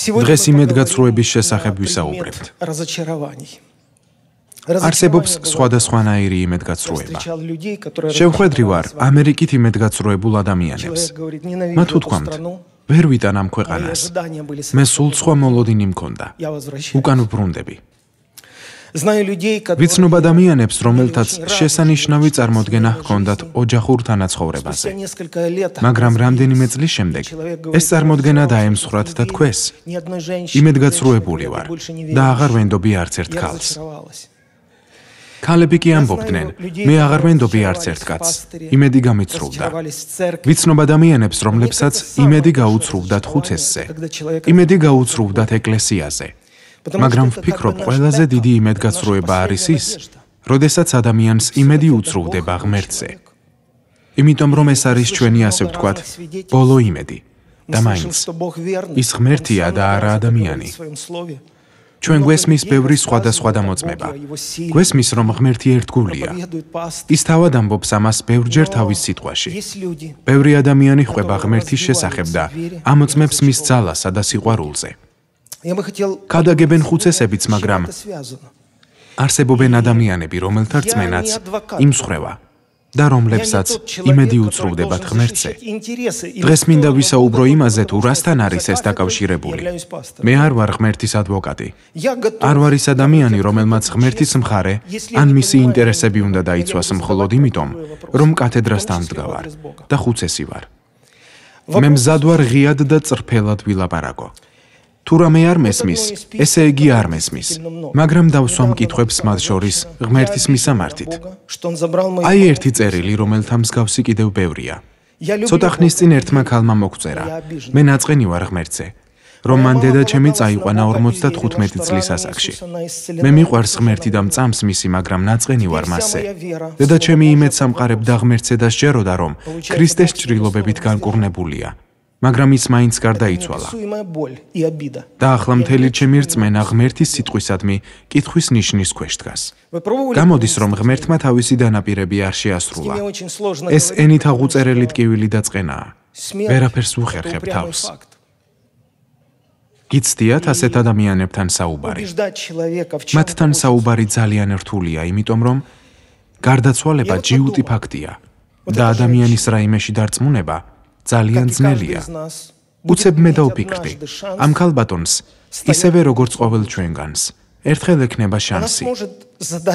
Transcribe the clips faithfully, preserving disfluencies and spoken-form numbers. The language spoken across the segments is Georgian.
დღეს იმედგაცრუების შესახებ ვისაუბრებთ. არსებობს სხვადასხვანაირი იმედგაცრუება. შევხვედრი ვარ ამერიკით იმედგაცრუებულ ადამიანებს. მათ უთქვამთ, ვერ ვიტან ამ ქვეყანას. მე სულ სხვა მოლოდინი მქონდა. უკან ვბრუნდები. ვიცნობ ადამიანებს, რომელთაც შესანიშნავი წარმოდგენა ჰქონდათ ოჯახურ თანაცხოვრებაზე. მაგრამ რამდენიმე წლის შემდეგ ეს წარმოდგენა დაემსხვრათ და თქვეს, იმედგაცრუებული ვარ და აღარ ვენდობი არც ერთ ქალს. ქალები კი ამბობდნენ, მე აღარ ვენდობი არც ერთ კაცს, იმედი გამიცრუვდა. ვიცნობ ადამიანებს, რომლებსაც იმედი გაუცრუვდათ ხუცესზე, იმედი გაუცრუვდათ ეკლესიაზე. მაგრამ ვფიქრობ, ყველაზე დიდი იმედგაცრუება არის ის, როდესაც ადამიანს იმედი უცრუვდება ღმერთზე. იმიტომ რომ ეს არის ჩვენი, ასე ვთქვათ, ბოლო იმედი. და მაინც ის ღმერთია და არა ადამიანი. ჩვენ გვესმის ბევრი სხვადასხვა დამოწმება. გვესმის, რომ ღმერთი ერთგულია. ის თავად ამბობს ამას ბევრჯერ თავის სიტყვაში. ბევრი ადამიანი ხვდება ღმერთის შესახებ და ამოწმებს მის ძალასა და სიყვარულზე. ქადაგებენ ხუცესებიც, მაგრამ არსებობენ ადამიანები, რომელთა რწმენაც იმსხვრევა და რომლებსაც იმედი უცრუვდებათ ღმერთზე. დღეს მინდა ვისაუბრო იმაზე, თუ რასთან არის ეს დაკავშირებული. მე არ ვარ ღმერთის ადვოკატი. არ ვარ ის ადამიანი, რომელმაც ღმერთის მხარე ან მისი ინტერესები უნდა დაიცვას მხოლოდ იმიტომ, რომ კათედრასთან ვდგავარ და ხუცესი ვარ. მე მზად ვარ ღიად და წრფელად ვილაპარაკო. თუ რამე არ მესმის, ესე იგი არ მესმის, მაგრამ დავსვამ კითხვებს მათ შორის ღმერთის მისამართით. აი ერთი წერილი, რომელთა მსგავსი კიდევ ბევრია. ცოტა ხნის წინ ერთმა ქალმა მოგწერა, მე ნაწყენი ვარ ღმერთზე, რომ მან დედაჩემი წაიყვანა ორმოცდათხუთმეტი წლის ასაკში. მე მიყვარს ღმერთი და მწამს მისი, მაგრამ ნაწყენი ვარ მასზე. დედაჩემი იმედს ამყარებდა ღმერთზე და სჯეროდა, რომ ქრისტეს ჭრილობებით განკურნებულია. მაგრამ ის მაინც გარდაიცვალა. და ახლა მთელი ჩემი რწმენა ღმერთის სიტყვისადმი კითხვის ნიშნის ქვეშ დგას. გამოდის, რომ ღმერთმა თავისი დანაპირები არ შეასრულა. ეს ენით აღუწერელი ტკივილი და წყენაა. ვერაფერს ვუხერხებ თავს. გიცდიათ ასეთ ადამიანებთან საუბარი. მათთან საუბარი ძალიან რთულია, იმიტომ რომ გარდაცვალება ჯიუტი ფაქტია და ადამიანის რაიმეში დარწმუნება ძალიან ძნელია. უცებ მე დავფიქრდი, ამ ქალბატონს, ისევე როგორც ყოველ ჩვენგანს, ერთხელ ექნება შანსი.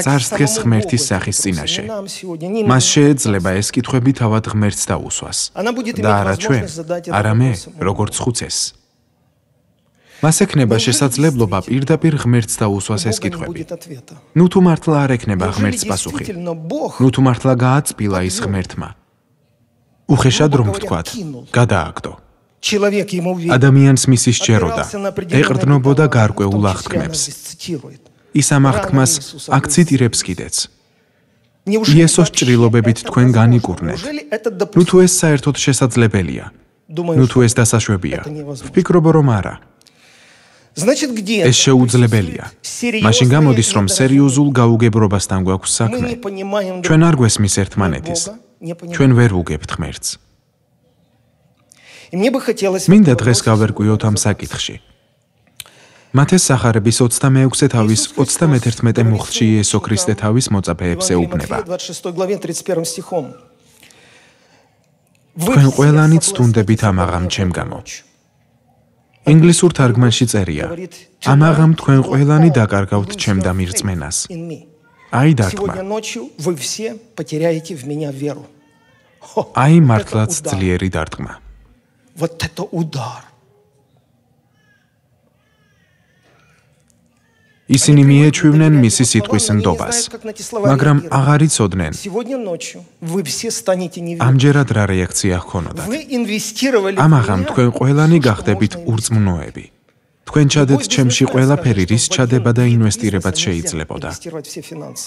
წარს დგეს ღმერთის სახის წინაშე. მას შეეძლება ეს კითხვები თავად ღმერთს დაუსვას. და არა ჩვენ, არა მე, როგორც ხუცესს. მას ექნება შესაძლებლობა პირდაპირ ღმერთს დაუსვას ეს კითხვები. ნუ თუ მართლა არ ექნება ღმერთს პასუხი. ნუ თუ მართლა გააწპილა ის ღმერთმა. უხეშად რომ ვთქვათ, გადააგდო. ადამიანს მისი სჯეროდა, ეყრდნობოდა გარკვეულ აღთქმებს. ის ამ აღთქმას აქციტირებს კიდეც. იესოს ჭრილობებით თქვენ განიკურნეთ. ნუ თუ ეს საერთოდ შესაძლებელია, ნუ თუ ეს დასაშვებია, ვფიქრობ რომ არა. ეს შეუძლებელია. მაშინ გამოდის, რომ სერიოზულ გაუგებრობასთან გვაქვს საქმე. ჩვენ არ გვესმის ერთმანეთის. ჩვენ ვერ ვუგებთ ღმერთს. მინდა დღეს გავერკვიოთ ამ საკითხში. მათეს სახარების ოცდამეექვსე თავის ოცდამეთერთმეტე მუხლში იესო ქრისტე თავის მოწაფეებს ეუბნება. თქვენ ყველანი ცდუნდებით ამ აღამ ჩემ გამო. ინგლისურ თარგმანში წერია, ამ აღამ თქვენ ყველანი დაკარგავთ ჩემ დამირწმენას. აი დარტყმა. აი მართლაც ძლიერი დარტყმა. ისინი მიეჩვივნენ მისი სიტყვის ნდობას, მაგრამ აღარ იცოდნენ, ამჯერად რა რეაქცია ჰქონოდათ. ამ აღამ თქვენ ყველანი გახდებით ურწმუნოები. თქვენ ჩადეთ ჩემში ყველაფერი, რის ჩადება და ინვესტირებაც შეიძლებოდა.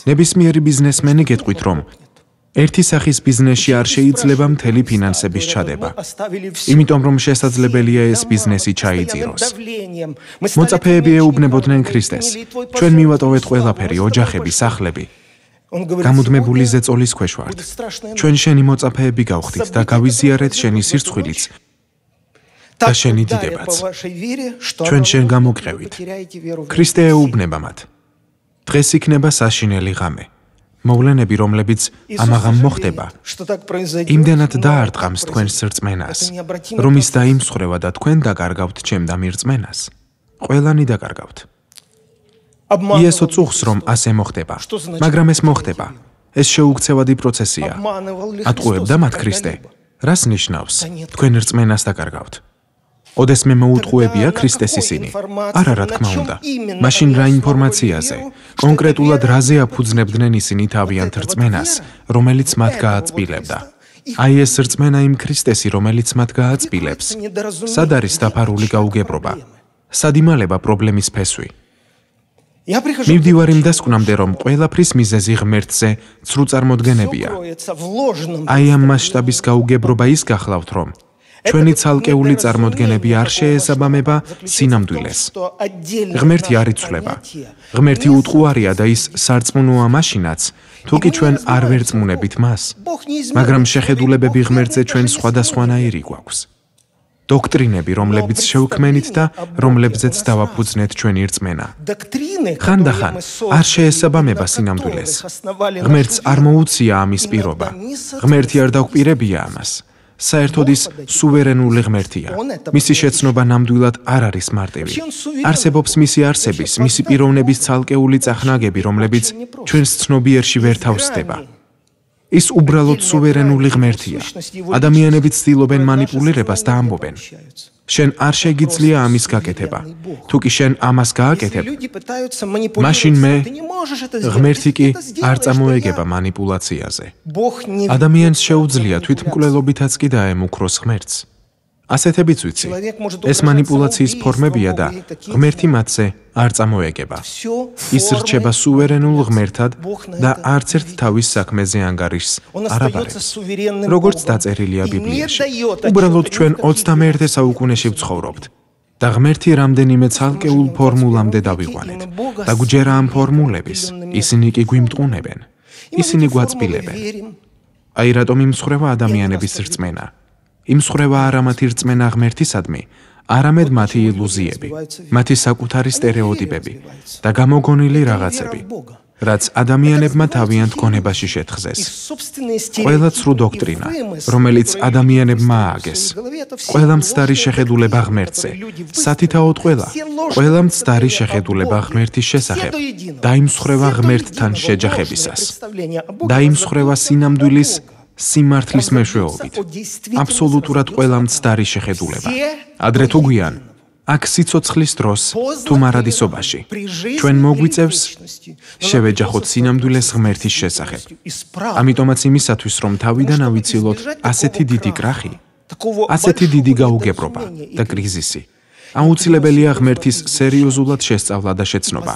ნებისმიერი ბიზნესმენი გეტყვით, რომ ერთი სახის ბიზნესში არ შეიძლება მთელი ფინანსების ჩადება. იმიტომ რომ შესაძლებელია ეს ბიზნესი ჩაიძიროს. მოწაფეები ეუბნებოდნენ ქრისტეს. ჩვენ მივატოვეთ ყველაფერი, ოჯახები, სახლები. გამუდმებული ზეწოლის ქვეშ ვართ. ჩვენ შენი მოწაფეები გავხდით და გავიზიარეთ შენი სირცხვილიც. და შენი დიდებაც. ჩვენ შენ გამოგყევით. ქრისტე ეუბნება მათ. დღეს იქნება საშინელი ღამე. მოვლენები, რომლებიც ამაღამ მოხდება, იმდენად დაარტყამს თქვენს რწმენას, რომ ის დაიმსხვრევა და თქვენ დაკარგავთ ჩემდა მირწმენას. ყველანი დაკარგავთ. იესო წუხს, რომ ასე მოხდება, მაგრამ ეს მოხდება. ეს შეუქცევადი პროცესია. ატყუებდა მათ ქრისტე. რას ნიშნავს? თქვენ რწმენას დაკარგავთ. ოდესმე მოუტყუებია ქრისტეს ისინი. არა, რა თქმა უნდა. მაშინ რა ინფორმაციაზე, კონკრეტულად რაზე აფუძნებდნენ ისინი თავიანთ რწმენას, რომელიც მათ გააწმილებდა? აი ეს რწმენა იმ ქრისტესი, რომელიც მათ გააწმილებს. სად არის დაფარული გაუგებრობა? სად იმალება პრობლემის ფესვი? მივდივარ იმ დასკვნამდე, რომ ყველაფრის მიზეზი ღმერთზე ცრუ წარმოდგენებია. აი ამ მასშტაბის გაუგებრობა ის გახლავთ, რომ ჩვენი ცალკეული წარმოდგენები არ შეესაბამება სინამდვილეს. ღმერთი არ იცვლება. ღმერთი უტყუარია და ის სარწმუნოა მაშინაც, თუ კი ჩვენ არ ვერწმუნებით მას. მაგრამ შეხედულებები ღმერთზე ჩვენ სხვადასხვანაირი გვაქვს. დოქტრინები, რომლებიც შევქმენით და რომლებზეც დავაფუძნეთ ჩვენი რწმენა. ხანდახან არ შეესაბამება სინამდვილეს. ღმერთს არ მოუწია ამის პირობა. ღმერთი არ დაგვპირებია ამას. საერთოდ ის სუვერენული ღმერთია. მისი შეცნობა ნამდვილად არ არის მარტივი. არსებობს მისი არსების, მისი პიროვნების ცალკეული წახნაგები, რომლებიც ჩვენს ცნობიერში ვერ თავსდება. ის უბრალოდ სუვერენული ღმერთია. ადამიანები ცდილობენ მანიპულირებას და ამბობენ. შენ არ შეგიძლია ამის გაკეთება. თუ კი შენ ამას გააკეთებ, მაშინ მე ღმერთი კი არ წამოეგება მანიპულაციაზე. ადამიანს შეუძლია თვითმკვლელობითაც კი დაემუქროს ღმერთს. ასეთებიც ვიცი. ეს მანიპულაციის ფორმებია და ღმერთი მათზე არ წამოეგება. ის რჩება სუვერენულ ღმერთად და არც ერთ თავის საქმეზე ანგარიშს არ აბარებს. როგორც დაწერილია ბიბლიაში. უბრალოდ ჩვენ ოცდამეერთე საუკუნეში ვცხოვრობთ და ღმერთი რამდენიმე ცალკეულ ფორმულამდე დავიყვანეთ და გვჯერა ამ ფორმულების. ისინი კი გვიმტყუნებენ. ისინი გვაწმილებენ. აი რატომ იმსხვრევა ადამიანების რწმენა. იმსხვრევა არა მათი რწმენა ღმერთისადმი, არამედ მათი ილუზიები, მათი საკუთარი სტერეოტიპები და გამოგონილი რაღაცები, რაც ადამიანებმა თავიანთ გონებაში შეთხზეს. ყველა ცრუ დოქტრინა, რომელიც ადამიანებმა ააგეს, ყველა მცდარი შეხედულება ღმერთზე, სათითაოდ ყველა, ყველა მცდარი შეხედულება ღმერთის შესახებ, დაიმსხვრევა ღმერთთან შეჯახებისას, დაიმსხვრევა სინამდვილის სიმართლის მეშვეობით. აბსოლუტურად ყველა მცდარი შეხედულება. ადრე თუ გვიან, აქ სიცოცხლის დროს თუ მარადისობაში, ჩვენ მოგვიწევს შევეჯახოთ სინამდვილეს ღმერთის შესახებ. ამიტომაც იმისათვის, რომ თავიდან ავიცილოთ ასეთი დიდი კრახი, ასეთი დიდი გაუგებრობა და კრიზისი, აუცილებელია ღმერთის სერიოზულად შესწავლა და შეცნობა.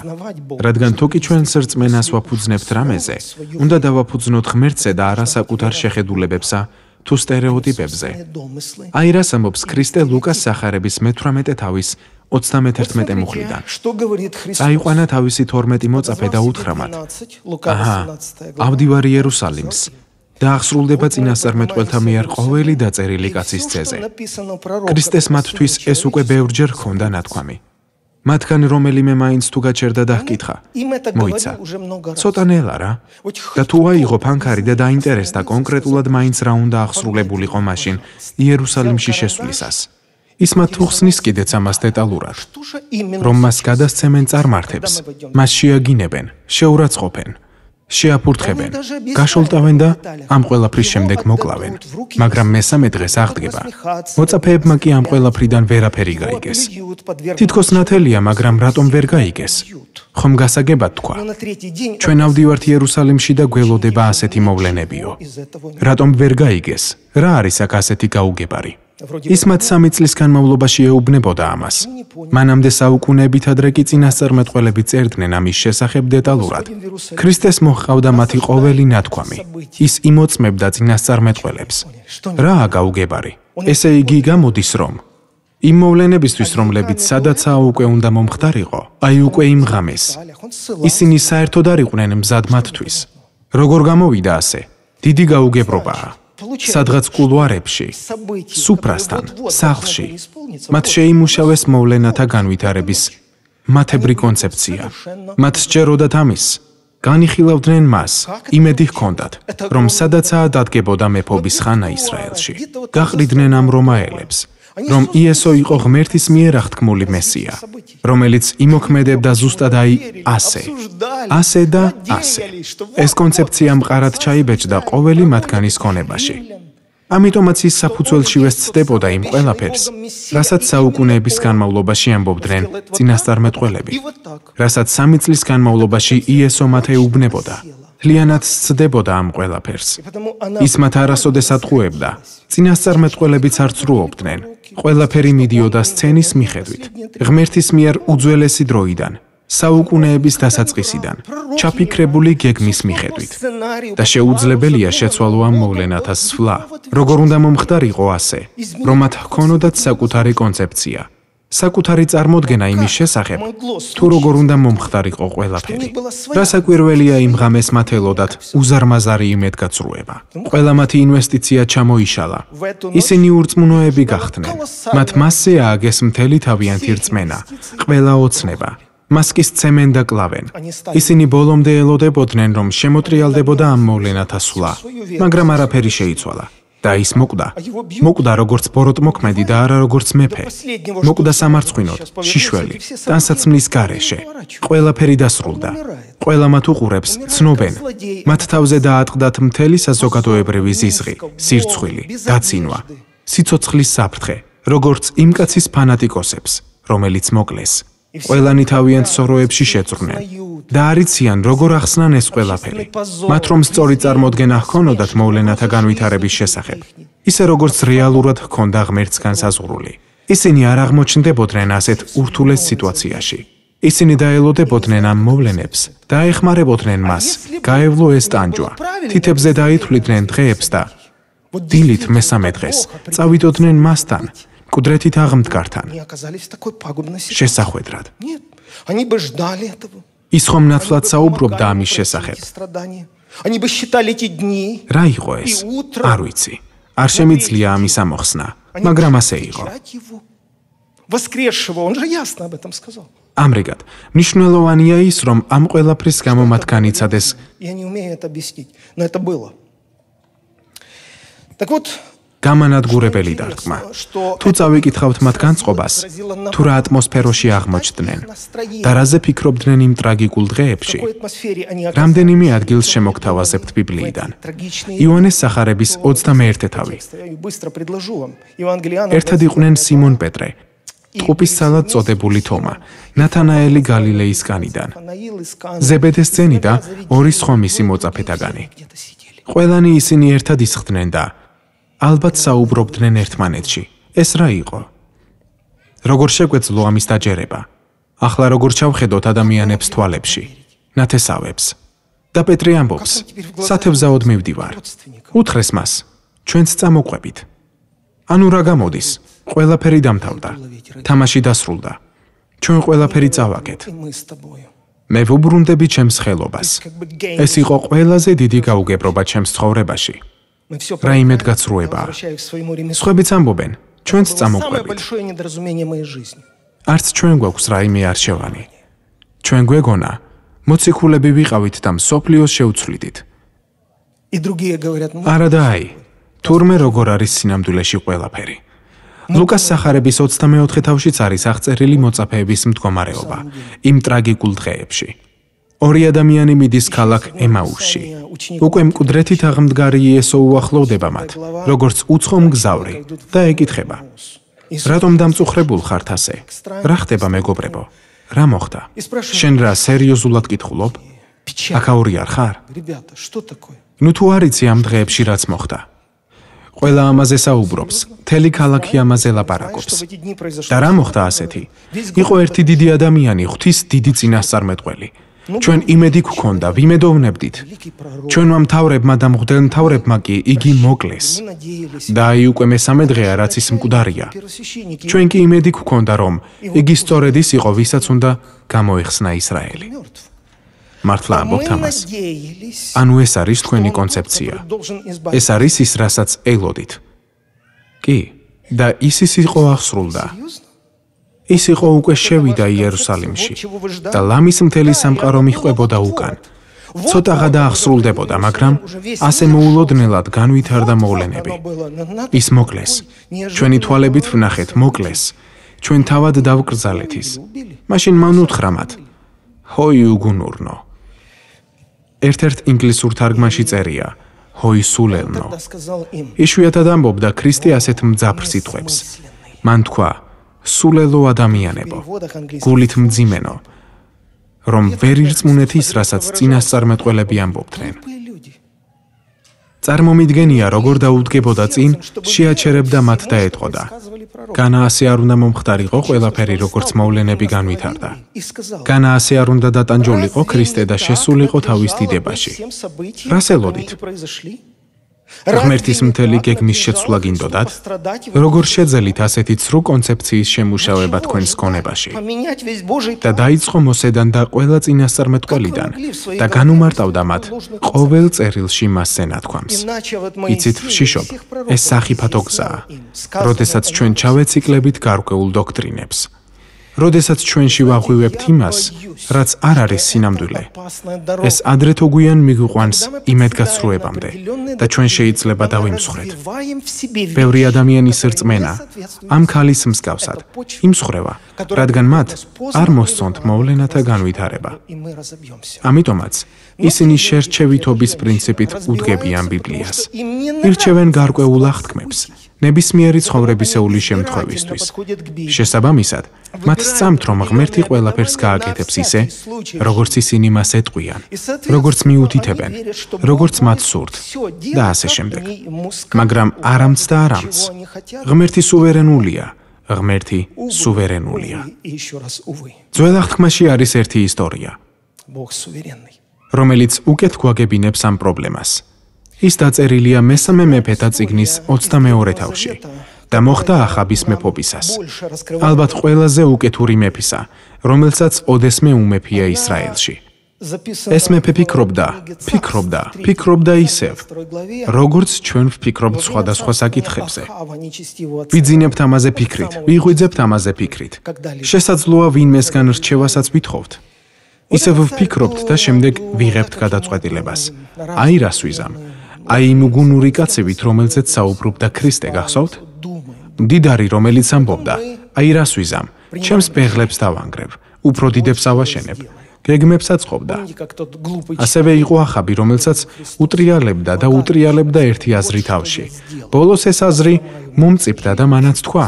რადგან თუ კი ჩვენს რწმენას ვაფუძნებთ რამეზე, უნდა დავაფუძნოთ ღმერთზე და არა საკუთარ შეხედულებებსა თუ სტერეოტიპებზე. აი რას ამბობს ქრისტე ლუკას სახარების მეთვრამეტე თავის ოცდამეთერთმეტე მუხლიდან. წაიყვანა თავისი თორმეტი მოწაფე და უთხრა მათ: აჰა, ავდივარ იერუსალიმს. და აღსრულდება წინასწარმეტყველთა მიერ ყოველი დაწერილი კაცის ძეზე. ქრისტეს მათთვის ეს უკვე ბევრჯერ ჰქონდა ნათქვამი. მათგან რომელიმე მაინც თუ გაჩერდა და ჰკითხა: მოიცა, ცოტანელა რა? და თუ აიღო ფანქარი და დაინტერესდა კონკრეტულად მაინც რა უნდა აღსრულებულიყო მაშინ იერუსალიმში შესვლისას. ის მათ უხსნის კიდეც ამას დეტალურად, რომ მას გადასცემენ წარმართებს, მას შეაგინებენ, შეურაცხყოფენ, შეაფურთხებენ, გაშოლტავენ და ამ ყველაფრის შემდეგ მოკლავენ, მაგრამ მესამე დღეს აღდგება. მოწაფეებმა კი ამ ყველაფრიდან ვერაფერი გაიგეს. თითქოს ნათელია, მაგრამ რატომ ვერ გაიგეს? ხომ გასაგებად თქვა: ჩვენ ავდივართ იერუსალიმში და გველოდება ასეთი მოვლენებიო. რატომ ვერ გაიგეს? რა არის აქ ასეთი გაუგებარი? ის მათ სამი წლის განმავლობაში ეუბნებოდა ამას. მანამდე საუკუნეებით ადრე კი წინასწარმეტყველები წერდნენ ამის შესახებ დეტალურად. ქრისტეს მოჰყავდა მათი ყოველი ნათქვამი. ის იმოწმებდა წინასწარმეტყველებს. რაა გაუგებარი? ესე იგი გამოდის, რომ იმ მოვლენებისთვის, რომლებიც სადაცაა უკვე უნდა მომხდარიყო, აი უკვე იმ ღამეს, ისინი საერთოდ არ იყვნენ მზად მათთვის. როგორ გამოვიდა ასე? დიდი გაუგებრობაა. სადღაც კულუარებში, სუფრასთან, სახლში, მათ შეიმუშავეს მოვლენათა განვითარების მათებრი კონცეფცია. მათ სჯეროდათ ამის, განიხილავდნენ მას, იმედი ჰქონდათ, რომ სადაცაა დადგებოდა მეფობის ხანა ისრაელში. გაყრიდნენ ამ რომაელებს, რომ იესო იყო ღმერთის მიერ აღთქმული მესია, რომელიც იმოქმედებდა ზუსტად აი ასე, ასე და ასე. ეს კონცეფცია მყარად ჩაიბეჭდა ყოველი მათგანის ქონებაში. ამიტომაც ის საფუძველშივე ცდებოდა იმ ყველაფერს, რასაც საუკუნეების განმავლობაში ამბობდნენ წინასწარმეტყველები, რასაც სამი წლის განმავლობაში იესო მათ ეუბნებოდა. Lianat ცდებოდა ამ ყველაფერს. ის მათ არასოდეს ატყუებდა. წინასწარმეტყველებიც არ ცრუობდნენ. ყველაფერი მიდიოდა სცენის მიხედვით. ღმერთის მიერ უძველესი დროიდან, საუკუნეების დასაწყისიდან, ჩაფიქრებული გეგმის მიხედვით. და შეუძლებელია შეცვალო ამ მოვლენათა სვლა, როგორ უნდა მომხდარიყო ასე, რომ მათ ჰქონოდათ საკუთარი კონცეფცია. საკუთარი წარმოდგენა იმის შესახებ, თუ როგორ უნდა მომხდარიყო ყველაფერი. რა საკვირველია იმ ღამეს მათ ელოდათ უზარმაზარი იმედგაცრუება. ყველა მათი ინვესტიცია ჩამოიშალა. ისინი ურწმუნოები გახდნენ. მათ მასზე ააგეს მთელი თავიანთი რწმენა, ყველა ოცნება. მასკის ცემენ და კლავენ. ისინი ბოლომდე ელოდებოდნენ, რომ შემოტრიალდებოდა ამ მოვლენათა სვლა, მაგრამ არაფერი შეიცვალა. და ის მოკვდა. მოკვდა როგორც ბოროტმოქმედი და არა როგორც მეფე. მოკვდა სამარცხვინოდ, შიშველი, ტანსაცმლის გარეშე. ყველაფერი დასრულდა. ყველა მათ უყურებს, ცნობენ. მათ თავზე დაატყდათ მთელი საზოგადოებრივი ზიზღი, სირცხვილი, დაცინვა, სიცოცხლის საფრთხე, როგორც იმ კაცის ფანატიკოსებს, რომელიც მოკლეს. ყველანი თავიანთ სოროებში შეწვრნენ და არიციან როგორ ახსნან ეს ყველაფერი. მათ რომ სწორი წარმოდგენა ჰქონოდათ მოვლენათა განვითარების შესახებ, ისე როგორც რეალურად ჰქონდა ღმერთს განსაზღვრული. ისინი არ აღმოჩნდებოდნენ ასეთ ურთულეს სიტუაციაში. ისინი დაელოდებოდნენ ამ მოვლენებს და ეხმარებოდნენ მას, გაევლო ეს ტანჯვა. თითებზე დაითვლიდნენ დღეებს და დილით მესამე დღეს წავიდოდნენ მასთან. კუდრეთით აღმდგართან. შესახვედრად. ის ხომ ნათლად საუბრობდა ამის შესახებ. რა იყო ეს? არ ვიცი. არ შემიძლია ამის ამოხსნა, მაგრამ ასე იყო. ამრიგად, მნიშვნელოვანია ის, რომ ამ ყველაფრის გამო მათ განიცადეს გამანადგურებელი დარტყმა. თუ წავიკითხავთ მათ განწყობას, თუ რა ატმოსფეროში აღმოჩნდნენ და რაზე ფიქრობდნენ იმ ტრაგიკულ დღეებში, რამდენიმე ადგილს შემოგთავაზებთ ბიბლიიდან. იოანეს სახარების ოცდამეერთე თავი. ერთად იყვნენ სიმონ პეტრე, ტყუპის ცალად წოდებული თომა, ნათანაელი გალილეისგანიდან, ზებედეს ძენი და ორი სხვა მისი მოწაფეთაგანი. ყველანი ისინი ერთად ისხდნენ და ალბათ საუბრობდნენ ერთმანეთში. ეს რა იყო? როგორ შეგვეძლო ამის დაჯერება? ახლა როგორ ჩავხედოთ ადამიანებს თვალებში, ნათესავებს? და პეტრე ამბობს, სათევზაოდ მივდივარ. უთხრეს მას, ჩვენც წამოყვებით. ანუ რა გამოდის? ყველაფერი დამთავრდა. თამაში დასრულდა. ჩვენ ყველაფერი წავაგეთ. მე ვუბრუნდები ჩემს ხელობას. ეს იყო ყველაზე დიდი გაუგებრობა ჩემს ცხოვრებაში. რა იმედგაცრუებაა. სხვებიც ამბობენ, ჩვენც წამოყვებით. არც ჩვენ გვაქვს რაიმე არჩევანი. ჩვენ გვეგონა, მოციქულები ვიყავით და მსოფლიოს შევცვლიდით. არა და აი, თურმე როგორ არის სინამდვილეში ყველაფერი. ლუკას სახარების ოცდამეოთხე თავშიც არის აღწერილი მოწაფეების მდგომარეობა იმ ტრაგიკულ დღეებში. ორი ადამიანი მიდის ქალაქ ემაუსში. უკვე მკვდრეთით აღმდგარი იესო უახლოვდება მათ, როგორც უცხო მგზავრი და ეკითხება: რატომ დამწუხრებულ ხართ ასე? რა ხდება მეგობრებო? რა მოხდა? შენ რა სერიოზულად კითხულობ? აქაური არ ხარ? ნუ თუ არ იცი ამ დღეებში რაც მოხდა. ყველა ამაზე საუბრობს, მთელი ქალაქი ამაზე ლაპარაკობს. და რა მოხდა ასეთი? იყო ერთი დიდი ადამიანი, ღვთის დიდი წინასწარმეტყველი. ჩვენ იმედი გვქონდა, ვიმედოვნებდით. ჩვენმა მთავრებმა და მღვდელმთავრებმა კი იგი მოკლეს. და აი უკვე მესამე დღეა, რაც ის მკვდარია. ჩვენ კი იმედი გვქონდა, რომ იგი სწორედ ის იყო, ვისაც უნდა გამოეხსნა ისრაელი. მართლა ამბობთ ამას? ანუ ეს არის თქვენი კონცეფცია. ეს არის ის, რასაც ელოდით. კი, და ისის იყო აღსრულდა. ის იყო უკვე შევიდა იერუსალიმში და ლამის მთელი სამყარო მიჰყვებოდა უკან. ცოტაღა დაახსრულდებოდა, მაგრამ ასე მოულოდნელად განვითარდა მოვლენები. ის მოკლეს. ჩვენი თვალებით ვნახეთ, მოკლეს. ჩვენ თავად დავკრძალეთ ის. მაშინ მან უთხრა მათ: ჰოი უგუნურნო. ერთ-ერთ ინგლისურ თარგმანში წერია: ჰოი სულელნო. იშვიათად ამბობდა ქრისტე ასეთ მძაფრ სიტყვებს. მან თქვა: სულელო ადამიანებო, გულით მძიმენო, რომ ვერ ირწმუნეთ ის, რასაც წინასწარმეტყველები ამბობდნენ. წარმომიდგენია, როგორ დაუდგებოდა წინ, შეაჩერებდა მათ და ეტყოდა. განა ასე არ უნდა მომხდარიყო ყველაფერი, როგორც მოვლენები განვითარდა. განა ასე არ უნდა დატანჯულიყო ქრისტე და შესულიყო თავის დიდებაში. რას ელოდით? ღმერთის მთელი გეგმის შეცვლა გინდოდათ? როგორ შეძელით ასეთი ცრუ კონცეფციის შემუშავება თქვენს გონებაში? და დაიწყო მოსედან და ყველა წინასწარმეტყველიდან და განუმარტავდა მათ ყოველ წერილში მასზე ნათქვამს. იცით, ვშიშობ, ეს სახიფათო გზაა, როდესაც ჩვენ ჩავეციკლებით გარკვეულ დოქტრინებს. როდესაც ჩვენში ვაღვივებთ იმას, რაც არ არის სინამდვილე, ეს ადრე თუ გვიან მიგვიყვანს იმედგაცრუებამდე და ჩვენ შეიძლება დავიმსხვრეთ. ბევრი ადამიანის რწმენა ამ ქალის მსგავსად იმსხვრევა, რადგან მათ არ მოსწონთ მოვლენათა განვითარება. ამიტომაც ისინი შერჩევითობის პრინციპით უდგებიან ბიბლიას. ირჩევენ გარკვეულ აღთქმებს ნებისმიერი ცხოვრებისეული შემთხვევისთვის. შესაბამისად, მათ სწამთ, რომ ღმერთი ყველაფერს გააკეთებს ისე, როგორც ისინი მას ეტყვიან, როგორც მიუთითებენ, როგორც მათ სურთ და ასე შემდეგ. მაგრამ არამც და არამც. ღმერთი სუვერენულია, ღმერთი სუვერენულია. ძველ აღთქმაში არის ერთი ისტორია, რომელიც უკეთ გვაგებინებს ამ პრობლემას. ის დაწერილია მესამე მეფეთა წიგნის ოცდამეორე თავში და მოხდა ახაბის მეფობისას. ალბათ ყველაზე უკეთური მეფისა, რომელსაც ოდესმე უმეფია ისრაელში. ეს მეფე ფიქრობდა, ფიქრობდა, ფიქრობდა ისევ, როგორც ჩვენ ვფიქრობთ სხვადასხვა საკითხებზე. ვიძინებთ ამაზე ფიქრით, ვიღვიძებთ ამაზე ფიქრით. შესაძლოა ვინმესგან რჩევასაც ვითხოვთ. ისევ ვფიქრობთ და შემდეგ ვიღებთ გადაწყვეტილებას. აი რას ვიზამ. აი იმ უგუნური კაცებით, რომელზეც საუბრობდა ქრისტე, გახსოვთ? მდიდარი, რომელიც ამბობდა, აი რას ვიზამ, ჩემს ბეღლებს დავანგრევ, უფრო დიდებს ავაშენებ, გეგმებს აწყობდა. ასევე იყო ახაბი, რომელსაც უტრიალებდა და უტრიალებდა ერთი აზრი თავში. ბოლოს ეს აზრი მომწიფდა და მანაც თქვა: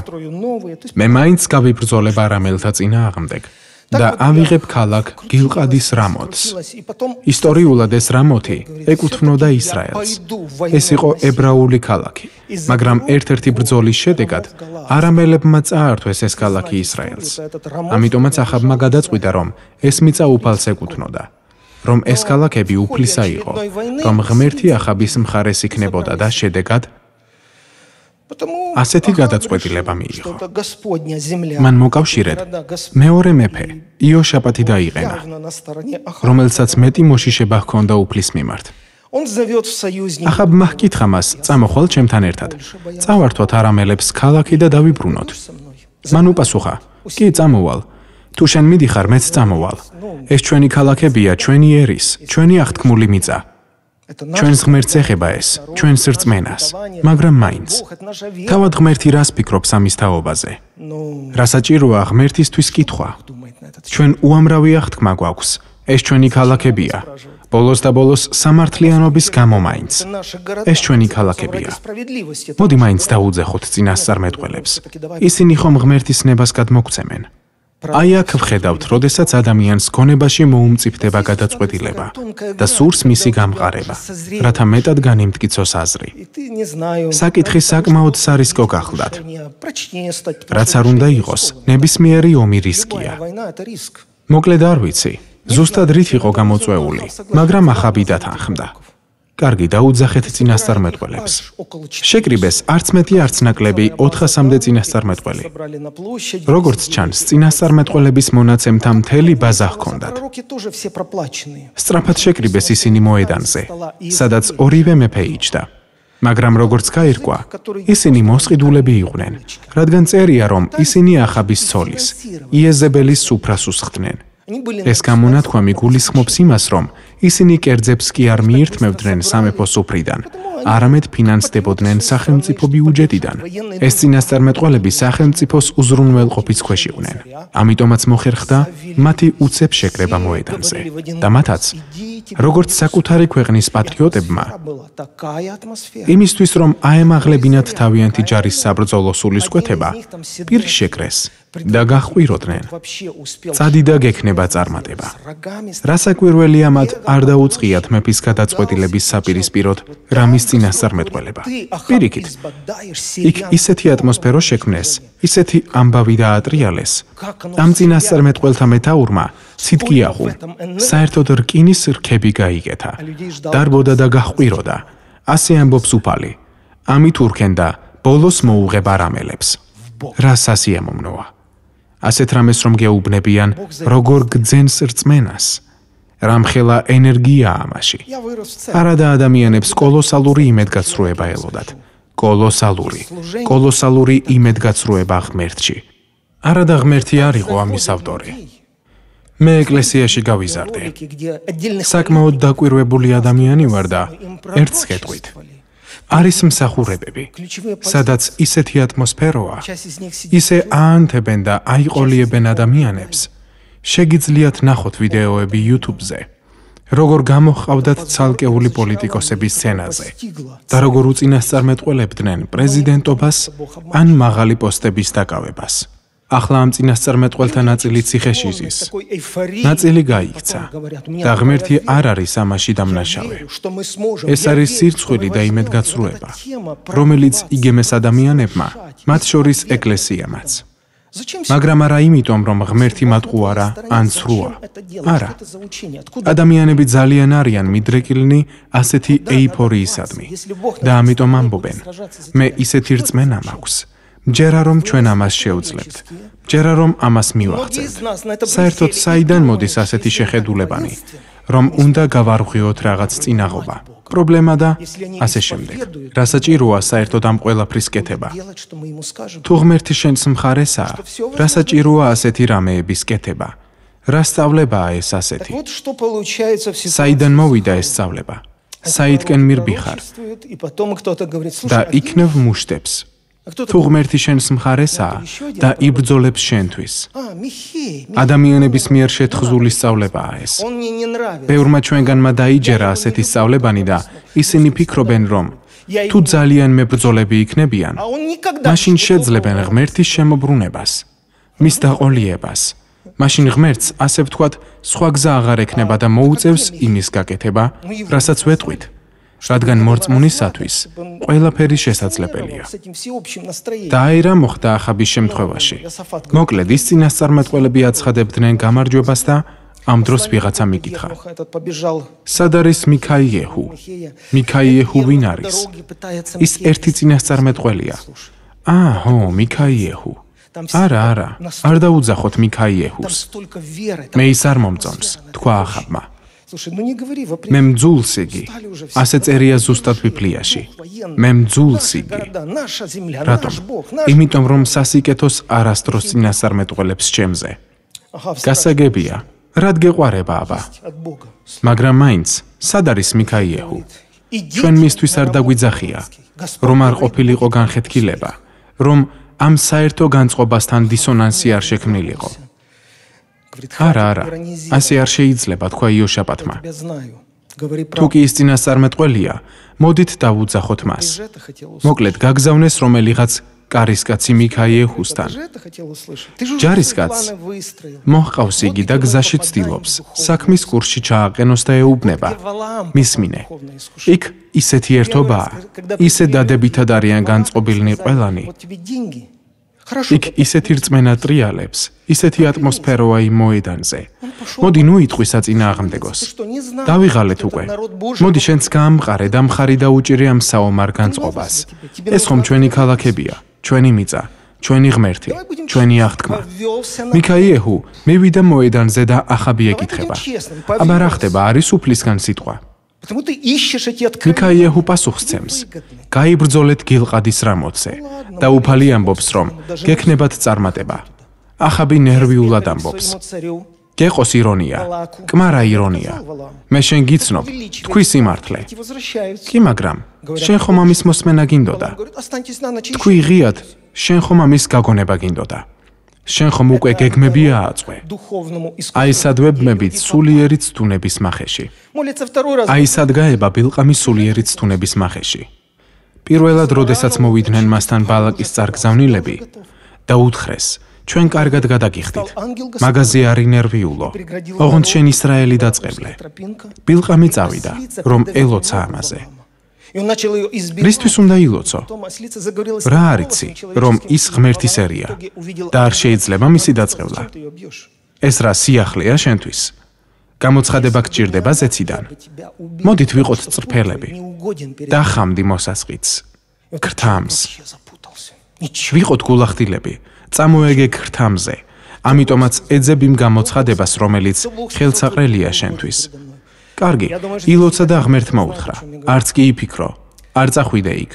მე მაინც გავიბრძოლებ არამელთა წინააღმდეგ და ავიღებ ქალაქ გილყადის რამოთს. ისტორიულად ეს რამოთი ეკუთვნოდა ისრაელს. ეს იყო ებრაული ქალაქი, მაგრამ ერთ-ერთი ბრძოლის შედეგად არამელებმა წაართვეს ეს ქალაქი ისრაელს. ამიტომაც ახაბმა გადაწყვიტა, რომ ეს მიწა უფალს ეკუთვნოდა, რომ ეს ქალაქები უფლისა იყო, რომ ღმერთი ახაბის მხარეს იქნებოდა და შედეგად ასეთი გადაწყვეტილება მიიღო. მან მოკავშირედ მეორე მეფე იოშაპატი დაიყენა, რომელსაც მეტი მოშიშება ჰქონდა უფლის მიმართ. ახაბმა ჰკითხა მას: წამოხვალ ჩემთან ერთად, წავართვათ არამელებს ქალაქი და დავიბრუნოთ. მან უპასუხა: კი, წამოვალ. თუ შენ მიდიხარ, მეც წამოვალ. ეს ჩვენი ქალაქებია, ჩვენი ერის, ჩვენი აღთქმული მიწა. ჩვენს ღმერთს ეხება ეს, ჩვენს რწმენას, მაგრამ მაინც. თავად ღმერთი რას ფიქრობს ამის თაობაზე? რა საჭიროა ღმერთისთვის კითხვა? ჩვენ უამრავი აღთქმა გვაქვს, ეს ჩვენი ქალაქებია. ბოლოს და ბოლოს სამართლიანობის გამო მაინც. ეს ჩვენი ქალაქებია. მოდი მაინც დაუძეხოთ წინასწარმეტყველებს. ისინი ხომ ღმერთის ნებას გადმოგცემენ? აი აქ ვხედავთ, როდესაც ადამიანს გონებაში მოუმწიფდება გადაწყვეტილება და სურს მისი გამყარება, რათა მეტად განიმტკიცოს აზრი. საკითხი საკმაოდ სარისკო გახლდათ. რაც არ უნდა იყოს, ნებისმიერი ომი რისკია. მოკლედ არ ვიცი, ზუსტად რით იყო გამოწვეული, მაგრამ ახაბი დათანხმდა. კარგი, დაუძახეთ წინასწარმეტყველებს. შეკრიბეს არც მეტი არც ნაკლები ოთხასამდე წინასწარმეტყველი. როგორც ჩანს, წინასწარმეტყველების მონაცემთა მთელი ბაზა ჰქონდათ. სწრაფად შეკრიბეს ისინი მოედანზე, სადაც ორივე მეფე იჯდა. მაგრამ როგორც გაირკვა, ისინი მოსყიდულები იყვნენ, რადგან წერია, რომ ისინი ახაბის ცოლის, იეზებელის სუფრას უსხდნენ. ეს გამონათქვამი გულისხმობს იმას, რომ ისინი კერძებს კი არ მიირთმევდნენ სამეფო სუფრიდან, არამედ ფინანსდებოდნენ სახელმწიფო ბიუჯეტიდან. ეს წინასწარმეტყველები სახელმწიფოს უზრუნველყოფის ქვეშ იყვნენ. ამიტომაც მოხერხდა მათი უცებ შეკრება მოედანზე და მათაც, როგორც საკუთარი ქვეყნის პატრიოტებმა, იმისთვის რომ აემაღლებინათ თავიანთი ჯარის საბრძოლო სულისკვეთება, პირს შეკრეს და გაჰყვიროდნენ. წადი და გექნება წარმატება. რასაკვირველია, მათ არ დაუწყიათ მეფის გადაწყვეტილების საპირისპიროდ რამის წინასწარმეტყველება. პირიქით, იქ ისეთი ატმოსფერო შექმნეს, ისეთი ამბავი დაატრიალეს. ამ წინასწარმეტყველთა მეთაურმა ციტკიახუ, საერთოდ რკინის რქები გაიგეთა, დარბოდა და გაჰყვიროდა. ასე ამბობს უფალი. ამით ურქენდა ბოლოს მოუღება რამელებს. რა სასიამოვნოა. ასეთ რამეს რომ გეუბნებიან, როგორ გძენს რწმენას. რამხელა ენერგია ამაში. არადა ადამიანებს კოლოსალური იმედგაცრუება ელოდათ. კოლოსალური, კოლოსალური იმედგაცრუება ღმერთში. არადა ღმერთი არ იყო ამის ავტორი. მე ეკლესიაში გავიზარდე. საკმაოდ დაკვირვებული ადამიანი ვარ და ერთს გეტყვით. არის მსახურებები, სადაც ისეთი ატმოსფეროა, ისე აანთებენ და აიყოლიებენ ადამიანებს. შეგიძლიათ ნახოთ ვიდეოები YouTube-ზე, როგორ გამოჰყავდათ ცალკეული პოლიტიკოსების სცენაზე და როგორ უწინასწარმეტყველებდნენ პრეზიდენტობას ან მაღალი პოსტების დაკავებას. ახლა ამ წინასწარმეტყველთა ნაწილი ციხეში ზის. ნაწილი გაიქცა და ღმერთი არ არის ამაში დამნაშავე. ეს არის სირცხვილი და იმედგაცრუება, რომელიც იგემეს ადამიანებმა, მათ შორის ეკლესიამაც. მაგრამ არა იმიტომ, რომ ღმერთი მათ უარა ან ცრუა. არა. ადამიანები ძალიან არიან მიდრეკილნი ასეთი ეიფორიისადმი და ამიტომ ამბობენ, მე ისეთი რწმენა მაქვს. ჯერა რომ ჩვენ ამას შევძლებთ, ჯერა რომ ამას მივახცევთ. საერთოდ საიდან მოდის ასეთი შეხედულებანი, რომ უნდა გავარღვიოთ რაღაც წინაღობა, პრობლემა და ასე შემდეგ. რა საჭიროა საერთოდ ამ ყველაფრის კეთება? თუ ღმერთი შენს მხარესაა, რა საჭიროა ასეთი რამეების კეთება? რა სწავლებაა ეს ასეთი? საიდან მოვიდა ეს სწავლება? საიდკენ მირბიხარ და იქნევ მუშტებს. თუ ღმერთი შენს მხარესაა და იბრძოლებს შენთვის. ადამიანების მიერ შეთხზული სწავლებაა ეს. ბევრმა ჩვენგანმა დაიჯერა ასეთი სწავლებანი და ისინი ფიქრობენ, რომ თუ ძალიან მებრძოლები იქნებიან, მაშინ შეძლებენ ღმერთის შემოbrunებას, მის დაყოლიებას. მაშინ ღმერთს, ასე ვთქვათ, სხვა გზა აღარ ექნება და მოუწევს იმის გაკეთება, რასაც ვეტყვით. რადგან მორწმუნისათვის ყველაფერი შესაძლებელია. და აი რა მოხდა ახაბის შემთხვევაში. მოკლედ, ის წინასწარმეტყველები აცხადებდნენ გამარჯვებას და ამ დროს ვიღაცა მიკითხა. სად არის მიქაიეჰუ? მიქაიეჰუ ვინ არის? ის ერთი წინასწარმეტყველია. აა, ჰო, მიქაიეჰუ. არა, არა, არ დაუძახოთ მიქაიეჰუს. მე ის არ მომწონს, თქვა ახაბმა. მე მძულს იგი, ასე წერია ზუსტად ბიბლიაში. მე მძულს იგი. რატომ? იმიტომ რომ სასიკეთოს არასდროს წინასწარმეტყველებს ჩემზე. გასაგებია, რად გეყვარება აბა? მაგრამ მაინც, სად არის მიქაიეჰუ? ჩვენ მისთვის არ დაგვიძახია, რომ არ ყოფილიყო განხეთქილება, რომ ამ საერთო განწყობასთან დისონანსი არ შექმნილიყო. არა, არა, ასე არ შეიძლება, თქვა იოშაპატმა. თუ კი ის წინასწარმეტყველია, მოდით დავუძახოთ მას. მოკლედ, გაგზავნეს რომელიღაც კარისკაცი მიქაიეჰუსთან. ჯარისკაცს მოჰყავს იგი და გზაში ცდილობს, საქმის კურსში ჩააყენოს და ეუბნება. მისმინე. იქ ისეთი ერთობაა, ისე დადებითად არიან განწყობილნი ყველანი. იქ ისეთი რწმენა ტრიალებს, ისეთი ატმოსფეროა იმ მოედანზე. მოდი ნუ იტყვი საწინააღმდეგოს. დავიღალეთ უკვე. მოდი შენც გაამყარე და მხარი დაუჭირე ამ საომარ განწყობას. ეს ხომ ჩვენი ქალაქებია, ჩვენი მიწა, ჩვენი ღმერთი, ჩვენი აღთქმა. მიქაიეჰუ მივიდა მოედანზე და ახაბი ეკითხება. აბა რა ხდება, არის უფლისგან სიტყვა? მიქაიეჰუ პასუხს გაიბრძოლეთ გილყადის რამოცზე და უფალი ამბობს, რომ გექნებათ წარმატება. ახაბი ნერვიულად ამბობს. გეყოს ირონია, კმარა ირონია. მე შენ გიცნობ, თქვი სიმართლე. კი, მაგრამ შენ ხომ ამის მოსმენა გინდოდა? თქვი ღიად, შენ ხომ ამის გაგონება გინდოდა? შენ ხომ უკვე გეგმები ააწყვე? აი სადვებმები სულიერი ცდუნების მახეში. აი სადგაება ბილყამის სულიერი ცდუნების მახეში. პირველად, როდესაც მოვიდნენ მასთან ბალაკის წარგზავნილები და უთხრეს, ჩვენ კარგად გადაგიხდით. მაგაზე არ ინერვიულო. ოღონდ შენ ისრაელი დაწყევლე. ბილყამი წავიდა, რომ ელოცა ამაზე. რისთვის უნდა ილოცო? რა არიცი, რომ ის ღმერთის ერია და არ შეიძლება მისი დაწყევლა. ეს რა სიახლეა შენთვის? გამოცხადება გჭირდება ზეციდან. მოდით ვიყოთ წრფელები და ხამდი მოსასყიდს, ქრთამს. ვიყოთ გულახდილები, წამოეგე ქრთამზე. ამიტომაც ეძებ იმ გამოცხადებას, რომელიც ხელსაყრელია შენთვის. კარგი, ილოცა და ღმერთმა უთხრა, არც კი იფიქრო, არ წახვიდე იქ.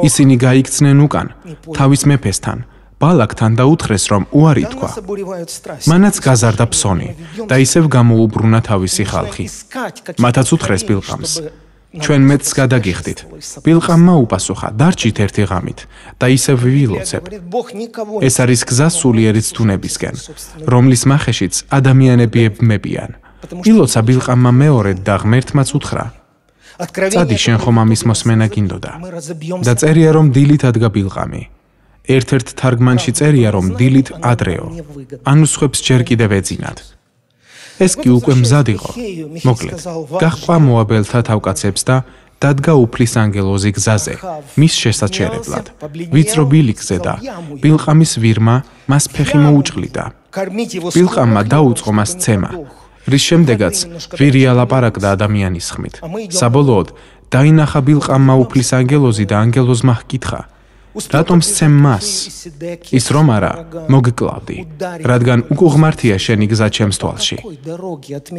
ისინი გაიქცნენ უკან, თავის მეფესთან, ბალაკთან და უთხრეს, რომ უარი თქვა. მანაც გაზარდა ფსონი და ისევ გამოუბრუნა თავისი ხალხი. მათაც უთხრეს ბილყამს, ჩვენ მეც გადაგიხდით. ბილყამმა upasukha, დარჩით ერთი ღამით და ისევ ვილოცებ. ეს არის გზა სულიერი ცდუნებისკენ, რომლის მახეშიც ადამიანები ებმებიან. ილოცა ბილყამმა მეორედ და ღმერთმაც უთხრა. წადი, შენ ხომ ამის მოსმენა გინდოდა? და წერია, რომ დილით ადგა ბილყამი. ერთ-ერთ თარგმანში წერია, რომ დილით ადრეო. ანუ სხვებს ჯერ კიდევ ეძინათ. ეს კი უკვე მზად იყო. მოკლედ, გაჰყვა მოაბელთა თავკაცებს და დადგა უფლის ანგელოზი გზაზე, მის შესაჩერებლად. ვიწრო ბილიკზე და ბილყამის ვირმა მას ფეხი მოუჭყლიდა. ბილყამმა დაუწყო მას ცემა, რის შემდეგაც ვირი ალაპარაკდა ადამიანის ხმით. საბოლოოდ დაინახა ბილყამმა უფლის ანგელოზი და ანგელოზმა ჰკითხა, რატომ სცემ მას? ის რომ არა, მოგკლავდი, რადგან უკუღმართია შენი გზა ჩემს თვალში.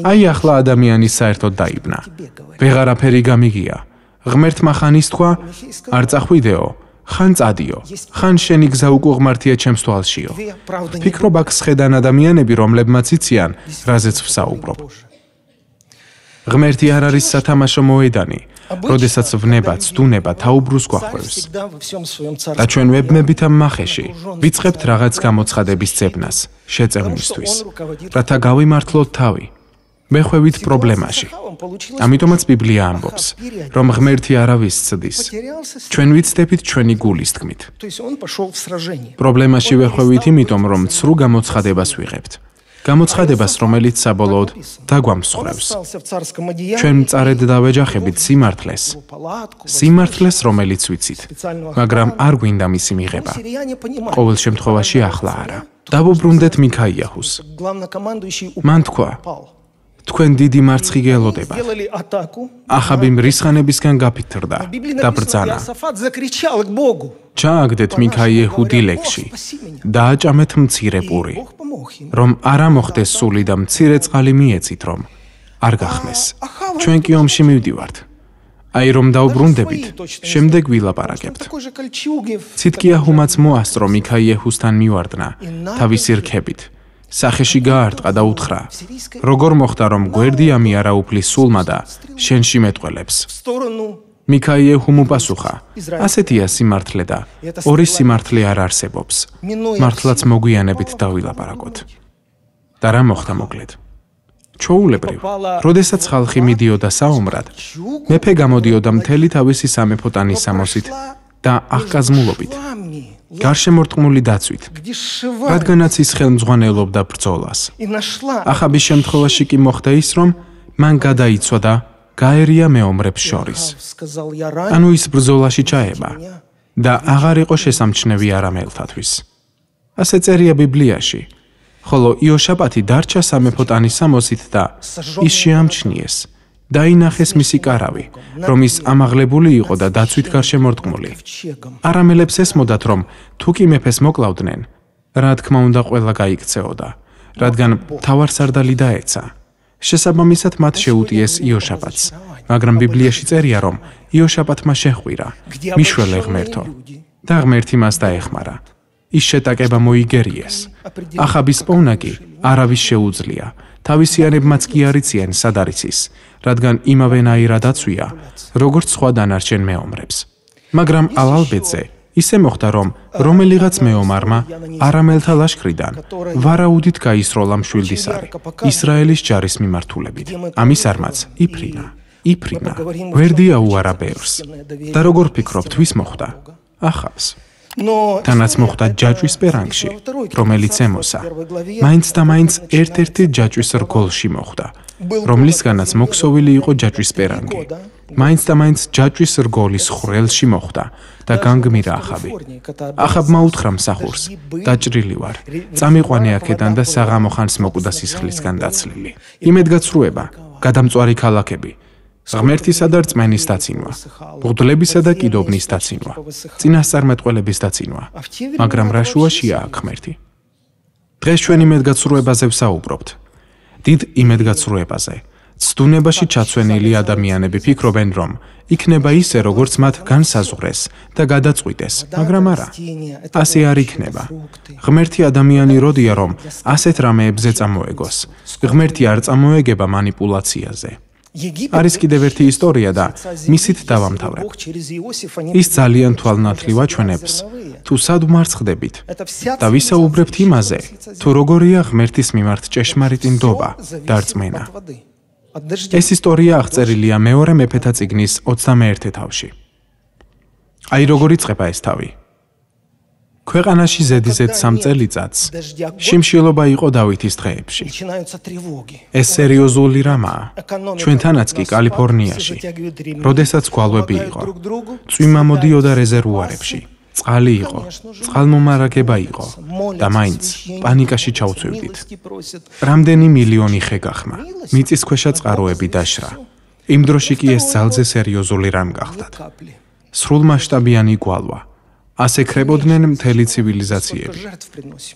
აი ახლა ადამიანი საერთოდ დაიბნა. ვეღარაფერი გამიგია. ღმერთმა ხან ის თქვა, არ წახვიდეო, ხან წადიო, ხან შენი გზა უკუღმართია ჩემს თვალშიო. ფიქრობ აქ სხედან ადამიანები, რომლებმაც იციან, რაზეც ვსაუბრობ. ღმერთი არ არის სათამაშო მოედანი, როდესაც ვნება, ცდუნება, თაუბრუს გვახვევს. და ჩვენ ვებმებით ამ მახეში, ვიწყებთ რაღაც გამოცხადების ძებნას, შეწევნისთვის, რათა გავიმართლოთ თავი, მეხვევით პრობლემაში. ამიტომაც ბიბლია ამბობს, რომ ღმერთი არავის ცდის, ჩვენ ვიცდებით ჩვენი გულის თქმით. პრობლემაში ვეხვევით იმიტომ, რომ ცრუ გამოცხადებას ვიღებთ. გამოცხადებას, რომელიც საბოლოოდ დაგვამსხვრევს. ჩვენ მწარედ დავეჯახებით სიმართლეს, სიმართლეს, რომელიც ვიცით, მაგრამ არ გვინდა მისი მიღება. ყოველ შემთხვევაში ახლა არა. დავუბრუნდეთ მიქაიაჰუს. მან თქვა, თქვენ დიდი მარცხი გელოდებათ. ახაბი მრისხანებისგან გაფითრდა და ბრძანა. ჩააგდეთ მიქაიეჰუ დილეგში და აჭამეთ მცირე პური, რომ არა მოხდეს სული და მცირე წყალი მიეცით, რომ არ გახმეს. ჩვენ კი ომში მივდივართ. აი რომ დავბრუნდებით, შემდეგ ვილაპარაკებთ. ციტკიაჰუმაც მოასწრო მიქაიეჰუსთან მივარდნა თავისი რქებით. სახეში გაარტყა და უთხრა, როგორ მოხდა, რომ გვერდი ამიარა უფლის სულმა და შენში მეტყველებს. მიქაიეჰუმ უპასუხა, ასეთია სიმართლე და ორი სიმართლე არ არსებობს. მართლაც მოგვიანებით დავილაპარაკოთ. და რა მოხდა მოკლედ? ჩვეულებრივ, როდესაც ხალხი მიდიოდა საომრად, მეფე გამოდიოდა მთელი თავისი სამეფო ტანისამოსით და აღკაზმულობით, გარშემორტყმული დაცვით, რადგანაც ის ხელმძღვანელობდა ბრძოლას. ახაბის შემთხვევაში კი მოხდა ის, რომ მან გადაიცვა და გაერია მეომრებს შორის. ანუ ის ბრძოლაში ჩაება და აღარ იყო შესამჩნევი არამელთათვის. ასე წერია ბიბლიაში, ხოლო იოშაპათი დარჩა სამეფო ტანის სამოსით და ის შეამჩნიეს. დაინახეს მისი კარავი, რომ ის ამაღლებული იყო და დაცვით გარშემორტყმული. არამელებს ესმოდათ, რომ თუ კი მეფეს მოკლავდნენ, რა თქმა უნდა ყველა გაიქცეოდა, რადგან მთავარსარდალი დაეცა. შესაბამისად მათ შეუტიეს იოშაპათს, მაგრამ ბიბლიაში წერია, რომ იოშაპათმა შეჰყვირა, მიშველე ღმერთო, და ღმერთი მას დაეხმარა. ის შეტაკება მოიგერიეს. ახაბის პოვნა კი არავის შეუძლია, თავისიანებმაც კი არ იციან სად არის ის, რადგან იმავენაირად აცვია, როგორც სხვა დანარჩენ მეომრებს. მაგრამ ალალბედზე ისე მოხდა, რომ რომელიღაც მეომარმა არამელთა ლაშქრიდან ვარაუდით გაისროლა მშვილდისარი ისრაელის ჯარის მიმართულებით. ამის არმაც იფრინა, იფრინა, ვერდი აუარა ბევრს. და როგორ ფიქრობთ, ვის მოხდა? ახავს. თანაც მოხდა ჯაჭვის პერანგში, რომელიც ემოსა, მაინც და მაინც ერთ-ერთი ჯაჭვის რგოლში მოხდა, რომლისგანაც მოქსოვილი იყო ჯაჭვის პერანგი. მაინც და მაინც ჯაჭვის რგოლის ხვრელში მოხდა და განგმირა ახაბი. ახაბმა უთხრა მსახურს, დაჭრილი ვარ, წამიყვანე აქედან და საღამო ხანს მოკვდა სისხლისგან დაცლილი. იმედგაცრუება, გადამწვარი ქალაქები, ღმერთისა და რწმენის დაცინვა, ბღვდლებისა და კიდობნის დაცინვა, წინასწარმეტყველების დაცინვა, მაგრამ რა შუაშია აქ ღმერთი? დღეს ჩვენ იმედგაცრუებაზე ვსაუბრობთ. დიდ იმედგაცრუებაზე. ცდუნებაში ჩაცვენილი ადამიანები ფიქრობენ, რომ იქნება ისე, როგორც მათ განსაზღვრეს და გადაწყვიტეს, მაგრამ არა. ასე არ იქნება. ღმერთი ადამიანი როდია, რომ ასეთ რამეებზე წამოეგოს. ღმერთი არ წამოეგება манипуляციაზე. არის კიდევ ერთი ისტორია და მისით დავამთავრებ. ის ძალიან თვალნათლივ აჩვენებს, თუ სად ვმარცხდებით და ვისაუბრებთ იმაზე, თუ როგორია ღმერთის მიმართ ჭეშმარიტი ნდობა და რწმენა. ეს ისტორია აღწერილია მეორე მეფეთა წიგნის ოცდამეერთე თავში. აი როგორ იწყება ეს თავი. ქვეყანაში ზედიზედ სამ წელიწადს შიმშილობა იყო დავითის დღეებში. ეს სერიოზული რამაა, ჩვენთანაც კი კალიფორნიაში, როდესაც გვალვები იყო, წვიმა მოდიოდა რეზერვუარებში, წყალი იყო, წყალმომარაგება იყო და მაინც პანიკაში ჩავწვევდით. რამდენი მილიონი ხე გახმა, მიწისქვეშა წყაროები დაშრა. იმ დროში კი ეს ძალზე სერიოზული რამ გახდათ. სრულმასშტაბიანი გვალვა. ასე ხრებოდნენ მთელი ცივილიზაციები,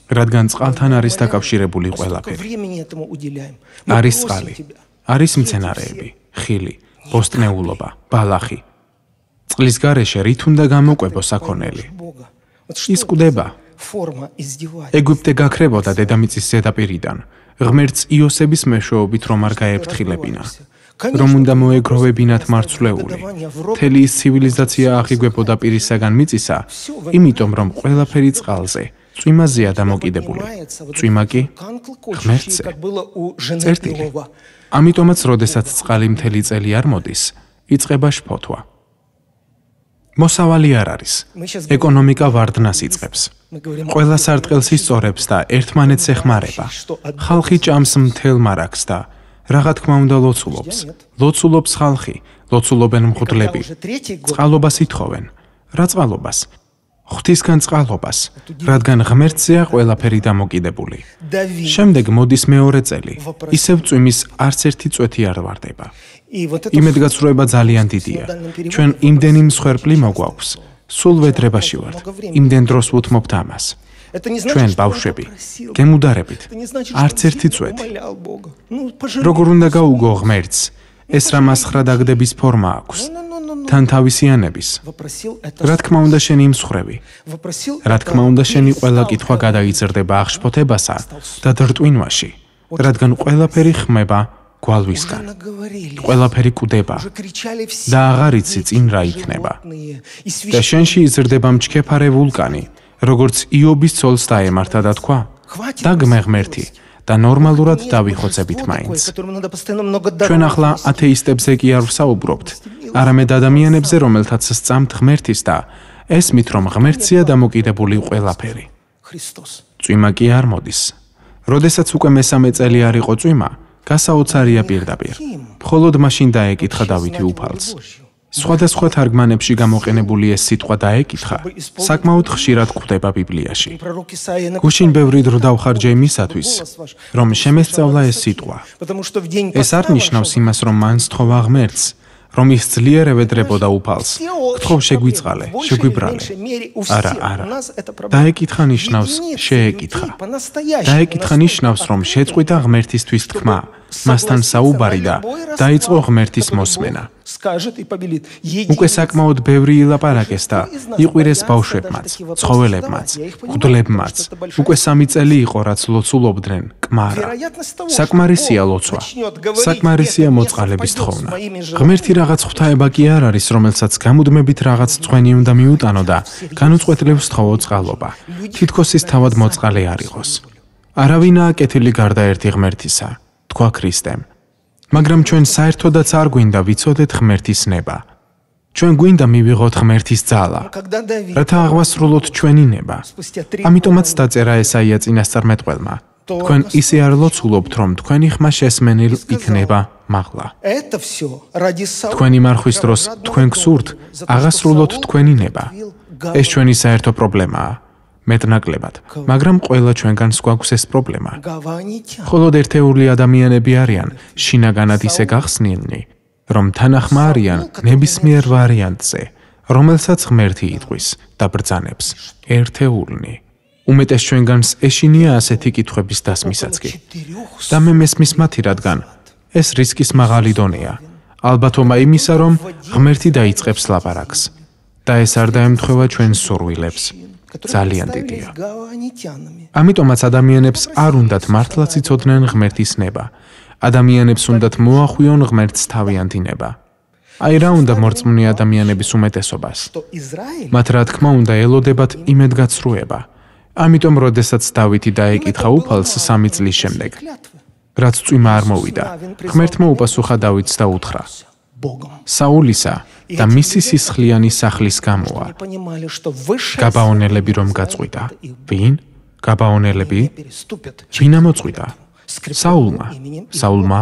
რადგან წყალთან არის დაკავშირებული ყველაფერი. არის წყალი, არის მცენარეები, ხილი, ბოსტნეულობა, ბალახი. წყლის გარეშე რით უნდა გამოკვებო საქონელი? ის კვდება. ეგვიპტე გაქრებოდა დედამიწის ზედაპირიდან, ღმერთს იოსების მეშვეობით რომ არ გაეფრთხილებინა. რომ უნდა მოეგროვებინათ მარცვლეული. მთელი ის ცივილიზაცია აღიგვებოდა პირისაგან მიწისა, იმიტომ რომ ყველაფერი წყალზე, წვიმაზეა დამოკიდებული. წვიმა კი ღმერთზე. წერტილი. ამიტომაც, როდესაც წყალი მთელი წელი არ მოდის, იწყება შფოთვა. მოსავალი არ არის. ეკონომიკა ვარდნას იწყებს. ყველა სარტყელს ისწორებს და ერთმანეთს ეხმარება. ხალხი ჭამს მთელ მარაგს და რაღა თქმა უნდა ლოცულობს. ლოცულობს ხალხი, ლოცულობენ მღვდლები. წყალობას ითხოვენ. რა წყალობას? ღვთისგან წყალობას, რადგან ღმერთზეა ყველაფერი დამოკიდებული. შემდეგ მოდის მეორე წელი. ისევ წვიმის არც ერთი წვეთი არ ვარდება. იმედგაცრუება ძალიან დიდია. ჩვენ იმდენი მსხვერპლი მოგვაქვს. სულ ვედრებაში ვართ. იმდენ დროს ვუთმობთ ამას. ჩვენ ბავშვები, გემუდარებით, არც ერთი წვეთი. როგორ უნდა გაუგო ღმერთს, ეს რა მასხრა დაგდების ფორმა აქვს, თან თავისიანების. რა თქმა უნდა შენი იმსხვრევი, რა თქმა უნდა შენი ყველა კითხვა გადაიზრდება აღშფოთებასა და დრტვინვაში, რადგან ყველაფერი ხმება გვალვისგან. ყველაფერი კვდება და აღარ იცი წინ რა იქნება. და შენში იზრდება მჩქეფარე ვულკანი, როგორც იობის ცოლს დაემართა და თქვა, დაგმე ღმერთი და ნორმალურად დავიხოცებით მაინც. ჩვენ ახლა ათეისტებზე კი არ ვსაუბრობთ, არამედ ადამიანებზე, რომელთაც სწამთ ღმერთის და ესმით, რომ ღმერთზეა დამოკიდებული ყველაფერი. წვიმა კი არ მოდის. როდესაც უკვე მესამე წელი არ იყო წვიმა, გასაოცარია პირდაპირ. მხოლოდ მაშინ დაეკითხა დავითი უფალს. სხვადასხვა თარგმანებში გამოყენებული ეს სიტყვა დაეკითხა, საკმაოდ ხშირად გვხვდება ბიბლიაში. გუშინ ბევრი დრო დავხარჯე იმისათვის, რომ შემესწავლა ეს სიტყვა. ეს არ ნიშნავს იმას, რომ მან სთხოვა ღმერთს, რომ ის ძლიერ ევედრებოდა უფალს. გთხოვ შეგვიწყალე, შეგვიბრალე. არა, არა. დაეკითხა ნიშნავს შეეკითხა. დაეკითხა ნიშნავს, რომ შეწყვიტა ღმერთისთვის თქმა, მასთან საუბარი და დაიწყო ღმერთის მოსმენა. უკვე საკმაოდ ბევრი ილაპარაკეს და იყვირეს ბავშვებმაც, ცხოველებმაც, მღვდლებმაც. უკვე სამი წელი იყო, რაც ლოცულობდნენ კმარა. საკმარისია ლოცვა. საკმარისია მოწყალების თხოვნა. ღმერთი რაღაც ღვთაება კი არ არის, რომელსაც გამუდმებით რაღაც წვენი უნდა მიუტანო და განუწყვეტლივ სთხოვო წყალობა. თითქოს ის თავად მოწყალე არ იყოს. არავინაა კეთილი გარდა ერთი ღმერთისა, თქვა ქრისტემ. მაგრამ ჩვენ საერთოდაც არ გვინდა ვიცოდეთ ღმერთის ნება. ჩვენ გვინდა მივიღოთ ღმერთის ძალა, რათა აღვასრულოთ ჩვენი ნება. ამიტომაც დაწერა ესაია წინასწარმეტყველმა. თქვენ ისე არ ლოცულობთ, რომ თქვენი ხმა შესმენილ იქნება მაღლა. თქვენი მარხვის დროს თქვენ გსურთ აღასრულოთ თქვენი ნება. ეს ჩვენი საერთო პრობლემაა. მეტნაკლებად, მაგრამ ყველა ჩვენგანს გვაქვს ეს პრობლემა. მხოლოდ ერთეული ადამიანები არიან შინაგანად ისე გახსნილნი, რომ თანახმა არიან ნებისმიერ ვარიანტზე, რომელსაც ღმერთი იტყვის და ბრძანებს, ერთეულნი. უმეტეს ჩვენგანს ეშინია ასეთი კითხვების დასმისაც კი. და მე მესმის მათი, რადგან ეს რისკის მაღალი დონეა. ალბათობა იმისა, რომ ღმერთი დაიწყებს ლაპარაკს და ეს არ დაემთხვევა ჩვენს სურვილებს. ძალიან დიდია. ამიტომაც ადამიანებს არ უნდათ მართლაც იცოდნენ ღმერთის ნება. ადამიანებს უნდათ მოახვიონ ღმერთს თავიანთი ნება. აი რა უნდა მორწმუნე ადამიანების უმეტესობას. მათ რა თქმა უნდა ელოდებათ იმედგაცრუება. ამიტომ როდესაც დავითი დაეკითხა უფალს სამი წლის შემდეგ, რაც წვიმა არ მოვიდა, ღმერთმა უპასუხა დავითს და უთხრა: საულისა და მისი სისხლიანი სახლის გამოა. გაბაონელები რომ გაწყვიტა. ვინ? გაბაონელები? ვინ ამოწყვიტა? საულმა. საულმა,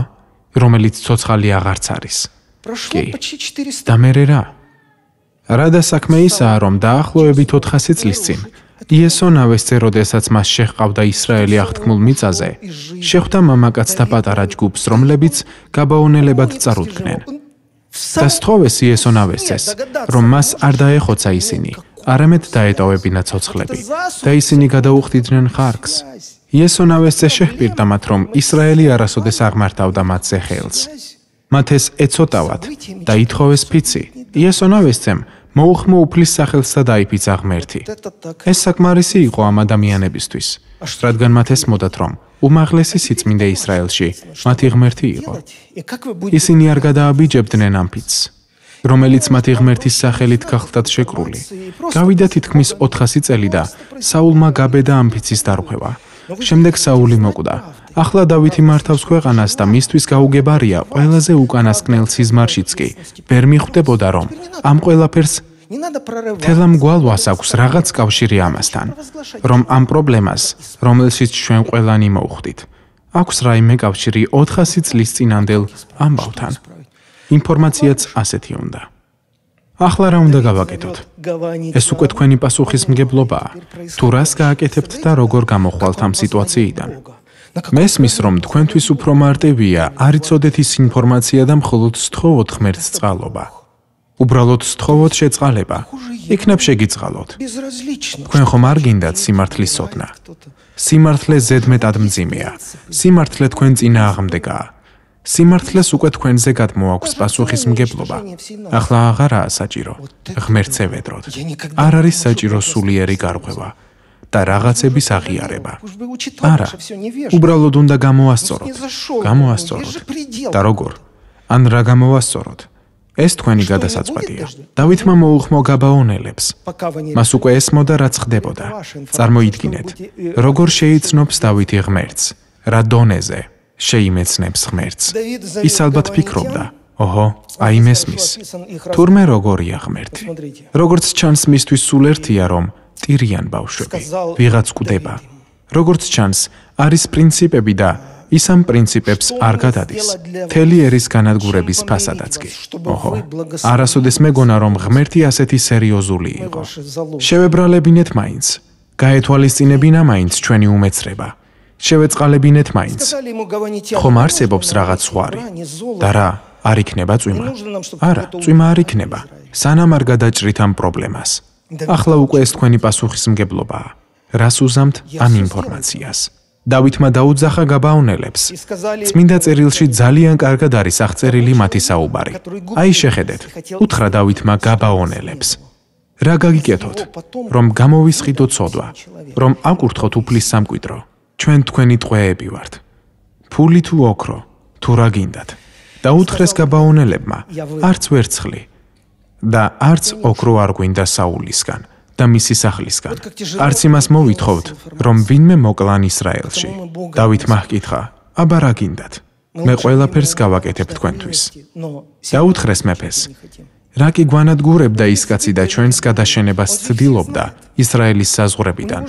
რომელიც ცოცხალი აღარც არის. კი. და მერე რა? რა და საქმე ისაა, რომ დაახლოებით ოთხასი წლის წინ იესო ნავესწე, როდესაც მას შეჰყავდა ისრაელი აღთქმულ მიწაზე, შეხვდა მამაკაცთა პატარა ჯგუფს, რომლებიც გაბაონელებად წარუდგნენ. და სთხოვეს იესო ნავესწეს, რომ მას არ დაეხოცა ისინი, არამედ დაეტოვებინა ცოცხლები და ისინი გადაუხდიდნენ ხარკს. იესო ნავესწე შეჰპირდა მათ, რომ ისრაელი არასოდეს აღმართავდა მათზე ხელს. მათ ეს ეცოტავათ და ითხოვეს ფიცი. იესო ნავესწემ მოუხმო უფლის სახელს და დაიფიცა ღმერთი. ეს საკმარისი იყო ამ ადამიანებისთვის, რადგან მათ ესმოდათ, რომ უმაღლესი სიწმინდე ისრაელში მათი ღმერთი იყო. ისინი არ გადააბიჯებდნენ ამ ფიცს, რომელიც მათი ღმერთის სახელით გახლდათ შეკრული. გავიდა თითქმის ოთხასი წელი და საულმა გაბედა ამ ფიცის დარღვევა. შემდეგ საული მოკვდა. ახლა დავითი მართავს ქვეყანას და მისთვის გაუგებარია ყველაზე უკანასკნელ სიზმარშიც კი ვერ მიხვდებოდა, რომ ამ ყველაფერს თელამ გვალვას აქვს რაღაც კავშირი ამასთან, რომ ამ პრობლემას, რომელშიც ჩვენ ყველანი მოვხვდით, აქვს რაიმე კავშირი ოთხასი წლის წინანდელ ამბავთან. ინფორმაციაც ასეთი უნდა. ახლა რა უნდა გავაკეთოთ? ეს უკვე თქვენი პასუხისმგებლობაა. თუ რას გააკეთებთ და როგორ გამოხვალთ ამ სიტუაციიდან? მესმის, რომ თქვენთვის უფრო მარტივია არ იცოდეთ ის ინფორმაცია და მხოლოდ სთხოვოთ ღმერთს წყალობა. უბრალოდ სთხოვოთ შეწყალება, იქნებ შეგიწყალოთ. თქვენ ხომ არ გინდათ სიმართლის სოდნა? სიმართლე ზედმეტად მძიმეა. სიმართლე თქვენ წინააღმდეგაა. სიმართლეს უკვე თქვენზე გადმოაქვს პასუხისმგებლობა. ახლა აღარაა საჭირო ღმერთს ევედროთ. არ არის საჭირო სულიერი გარღვევა და რაღაცების აღიარება. არა, უბრალოდ უნდა გამოასწოროთ. გამოასწოროთ. და როგორ? ან რა გამოვასწოროთ? ეს თქვენი გადასაწყვეტია. დავითმა მოუხმო გაბაონელებს. მას უკვე ესმოდა, რაც ხდებოდა. წარმოიდგინეთ, როგორ შეიცნობს დავითი ღმერთს, რა დონეზე შეიმეცნებს ღმერთს. ის ალბათ ფიქრობდა, ოჰო, აი მესმის. თურმე როგორია ღმერთი. როგორც ჩანს, მისთვის სულ ერთია, რომ ტირიან ბავშვები, ვიღაც კვდება. როგორც ჩანს, არის პრინციპები და ის ამ პრინციპებს არ გადადის. მთელი ერის განადგურების ფასადაც კი. ოჰო, არასოდეს მეგონა, რომ ღმერთი ასეთი სერიოზული იყო. შევებრალებინეთ მაინც, გაეთვალისწინებინა მაინც ჩვენი უმეცრება. შევეწყალებინეთ მაინც. ხომ არსებობს რაღაც ზღვარი? და რა, არ იქნება წვიმა? არა, წვიმა არ იქნება. სანამ არ გადაჭრით ამ პრობლემას. ახლა უკვე ეს თქვენი პასუხისმგებლობაა. რას უზამთ ამ ინფორმაციას? დავითმა დაუძახა გაბაონელებს. წმინდა წერილში ძალიან კარგად არის აღწერილი მათი საუბარი. აი შეხედეთ, უთხრა დავითმა გაბაონელებს. რა გაგიკეთოთ? რომ გამოვისყიდოთ ცოდვა, რომ აკურთხოთ უფლის სამკვიდრო. ჩვენ თქვენი ტყვეები ვართ. ფული თუ ოქრო, თუ რა გინდათ. დაუთხრეს გაბაონელებმა, არც ვერცხლი და არც ოქრო არ გვინდა საულისგან და მისი სახლისგან. არც იმას მოვითხოვთ, რომ ვინმე მოკლან ისრაელში. დავითმა ჰკითხა, აბა რა გინდათ? მე ყველაფერს გავაკეთებ თქვენთვის. დაუთხრეს მეფეს, რა კი გვანადგურებდა ის კაცი და ჩვენს გადაშენებას ცდილობდა ისრაელის საზღვრებიდან.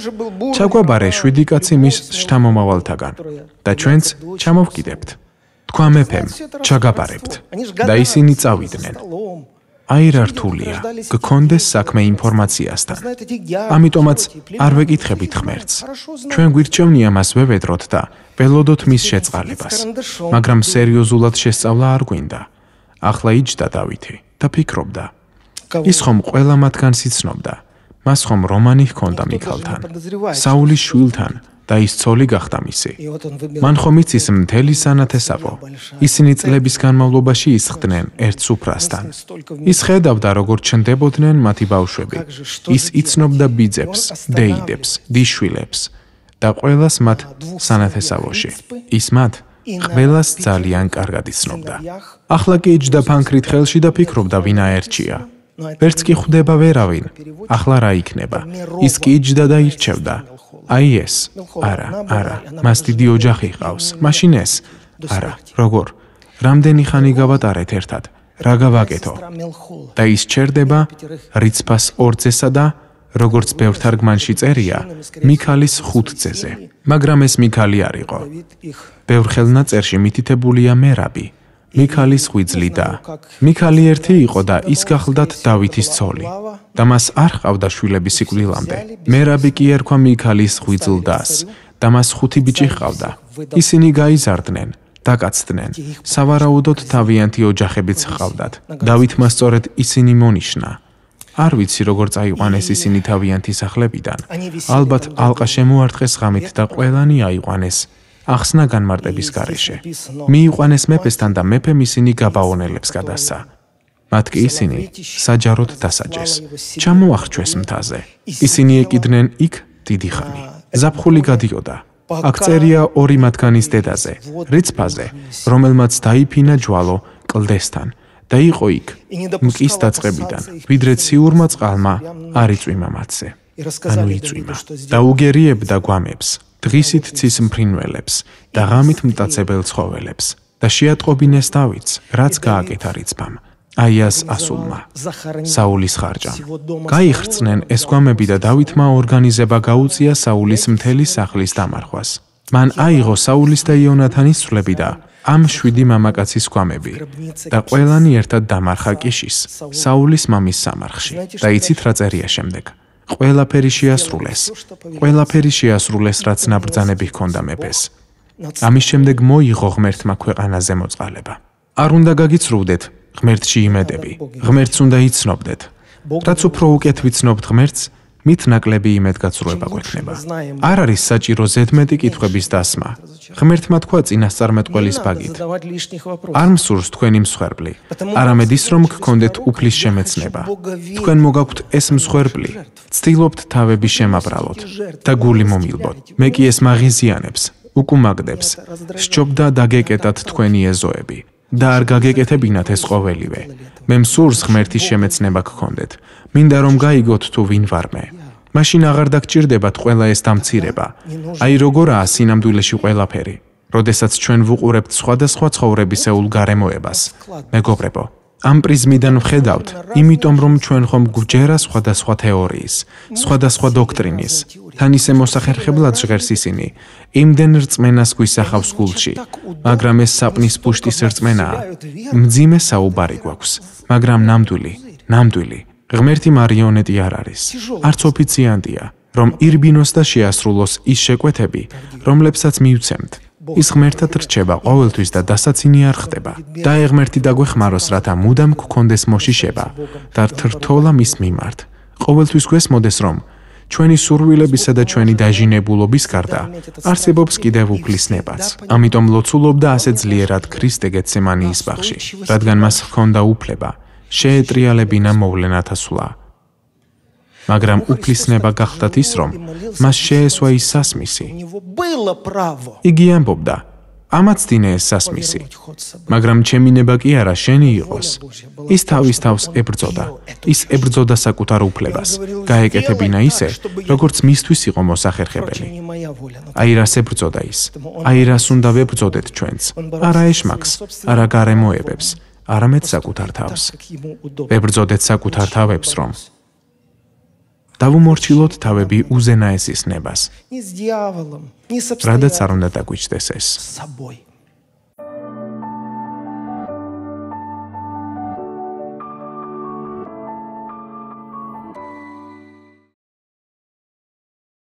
ჩაგვაბარე შვიდი კაცი მის შთამომავალთაგან და ჩვენც ჩამოვკიდებთ. თქვა მეფემ, ჩაგაბარებთ და ისინი წავიდნენ. აი რა რთულია, გქონდეს საქმე ინფორმაციასთან. ამიტომაც არ ვეკითხებით ღმერთს. ჩვენ გვირჩევნია მას ვევედროთ და ველოდოთ მის შეწყალებას, მაგრამ სერიოზულად შესწავლა არ გვინდა. ახლა იჯდა დავითი და ფიქრობდა. ის ხომ ყველა მათგანს იცნობდა. მას ხომ რომანი ჰქონდა მიქალთან, საულის შვილთან და ის ცოლი გახდა მისი. მან ხომ იცის მთელი სანათესავო. ისინი წლების განმავლობაში ისხდნენ ერთ სუფრასთან. ის ხედავდა, როგორ ჩნდებოდნენ მათი ბავშვები. ის იცნობდა ბიძებს, დეიდებს, დიშვილებს და ყველას მათ სანათესავოში. ის მათ ყველას ძალიან კარგად იცნობდა. ახლა კი იჯდა ფანქრით ხელში და ფიქრობდა, ვინ აერჩია. ვერც კი ხვდება ვერავინ. ახლა რა იქნება? ის კი იჯდა და ირჩევდა. აი ეს, არა, არა, მას დიდი ოჯახი ჰყავს, მაშინ ეს, არა, როგორ, რამდენი ხანი გავატარეთ ერთად, რა გავაკეთო? და ის ჩერდება რიცფას ორძესა და, როგორც ბევრ თარგმანში წერია, მიქალის ხუთძეზე, მაგრამ ეს მიქალი არ იყო. ბევრ ხელნაწერში მითითებულია მერაბი, მიქალის ღვიძლი და მიქალი ერთი იყო და ის გახლდათ დავითის ცოლი და მას არ ჰყავდა შვილები სიკვდილამდე. მერაბი კი ერქვა მიქალის ღვიძლდას და მას ხუთი ბიჭი ჰყავდა. ისინი გაიზარდნენ, დაკაცდნენ, სავარაუდოდ თავიანთი ოჯახებიც ჰყავდათ. დავითმა სწორედ ისინი მონიშნა. არ ვიცი როგორ წაიყვანეს ისინი თავიანთი სახლებიდან. ალბათ ალყა შემოარტყეს ღამით და ყველანი აიყვანეს ახსნა განმარტების გარეშე. მიიყვანეს მეფესთან და მეფემ ისინი გაბაონელებს გადასცა. მათ კი ისინი საჯაროდ დასაჯეს. ჩამოახრჩვეს მთაზე. ისინი ეკიდნენ იქ დიდი ხანი. ზაფხული გადიოდა. აქ წერია ორი მათგანის დედაზე, რიცფაზე, რომელმაც დაიფინა ჯვალო კლდესთან და იყო იქ მკის დაწყებიდან, ვიდრე ციურმა წყალმა არ იწვიმა მათზე. ანუ იწვიმა. დაუგერიებდა გვამებს. დღისით ცის მფრინველებს და ღამით მტაცებელ ცხოველებს და შეატყობინეს დავითს, რაც გააკეთა რიცფამ, აიას ასულმა, საულის ხარჯამ. გაიხრწნენ ეს გვამები და დავითმა ორგანიზება გაუწია საულის მთელი სახლის დამარხვას. მან აიღო საულის და იონათანის ცვლები და ამ შვიდი მამაკაცის გვამები და ყველანი ერთად დამარხა კიშის, საულის მამის სამარხში. და იცით რა წერია შემდეგ? ყველაფერი შეასრულეს, ყველაფერი შეასრულეს, რაც ნაბრძანები ჰქონდა მეფეს. ამის შემდეგ მოიღო ღმერთმა ქვეყანაზე მოწყალება. არ უნდა გაგიცრუვდეთ ღმერთში იმედები, ღმერთს უნდა იცნობდეთ. რაც უფრო უკეთ ვიცნობთ ღმერთს, მით ნაკლები იმედგაცრუება გვექნება. არ არის საჭირო ზედმეტი კითხვების დასმა. ღმერთმა თქვა წინასწარმეტყველის ბაგით. არ მსურს თქვენი მსხვერპლი, არამედ ის, რომ გქონდეთ უფლის შემეცნება. თქვენ მოგაქვთ ეს მსხვერპლი, ცდილობთ თავები შემაბრალოთ და გული მომილბოთ. მე კი ეს მაღიზიანებს, უკუმაგდებს, სჯობდა დაგეკეტათ თქვენი ეზოები და არ გაგეკეთებინათ ეს ყოველივე. მე მსურს ღმერთის შემეცნება გქონდეთ. მინდა რომ გაიგოთ თუ ვინ ვარ მე. მაშინ აღარ დაგჭირდებათ ყველა ეს დამცირება. აი როგორაა სინამდვილეში ყველაფერი. როდესაც ჩვენ ვუყურებთ სხვადასხვა ცხოვრებისეულ გარემოებას. მეგობრებო, ამ პრიზმიდან ვხედავთ, იმიტომ რომ ჩვენ ხომ გვჯერა სხვადასხვა თეორიის, სხვადასხვა დოქტრინის, თან ისე მოსახერხებლად ჟღერს ისინი, იმდენ რწმენას გვისახავს გულში, მაგრამ ეს საპნის პუშტის რწმენაა. მძიმე საუბარი გვაქვს, მაგრამ ნამდვილი, ნამდვილი, ღმერთი მარიონეტი არ არის, არც ოფიციანტია, რომ ირბინოს და შეასრულოს ის შეკვეთები, რომლებსაც მივცემთ. ის ღმერთად რჩება ყოველთვის და დასაცინი არ ხდება. და ღმერთი დაგვეხმაროს, რათა მუდამ გქონდეს მოშიშება და რთრთოლა მის მიმართ. ყოველთვის გვესმოდეს, რომ ჩვენი სურვილებისა და ჩვენი დაჟინებულობის გარდა არსებობს კიდევ უფლისნებაც. ამიტომ ლოცულობდა ასე ძლიერად ქრისტე გეთსემანიის ბაღში, რადგან მას ჰქონდა უფლება შეეტრიალებინა მოვლენათა სვლა. მაგრამ უფლისნება გახდათ ის, რომ მას შეესვა ის სასმისი. იგი ამბობდა, ამაც დინე ეს სასმისი, მაგრამ ჩემი ნება კი არა, შენი იყოს. ის თავის თავს ებრძოდა, ის ებრძოდა საკუთარ უფლებას, გაეკეთებინა ისე, როგორც მისთვის იყო მოსახერხებელი. აი რას ებრძოდა ის, აი რას უნდა ვებრძოდეთ ჩვენც, არა ეშმაკს, არა გარემოებებს, არამედ საკუთარ თავს. ვებრძოდეთ საკუთარ თავებს, რომ დავუმორჩილოთ თავები უზენაესის ნებას. რადაც არ უნდა დაგვიჩნდეს ეს.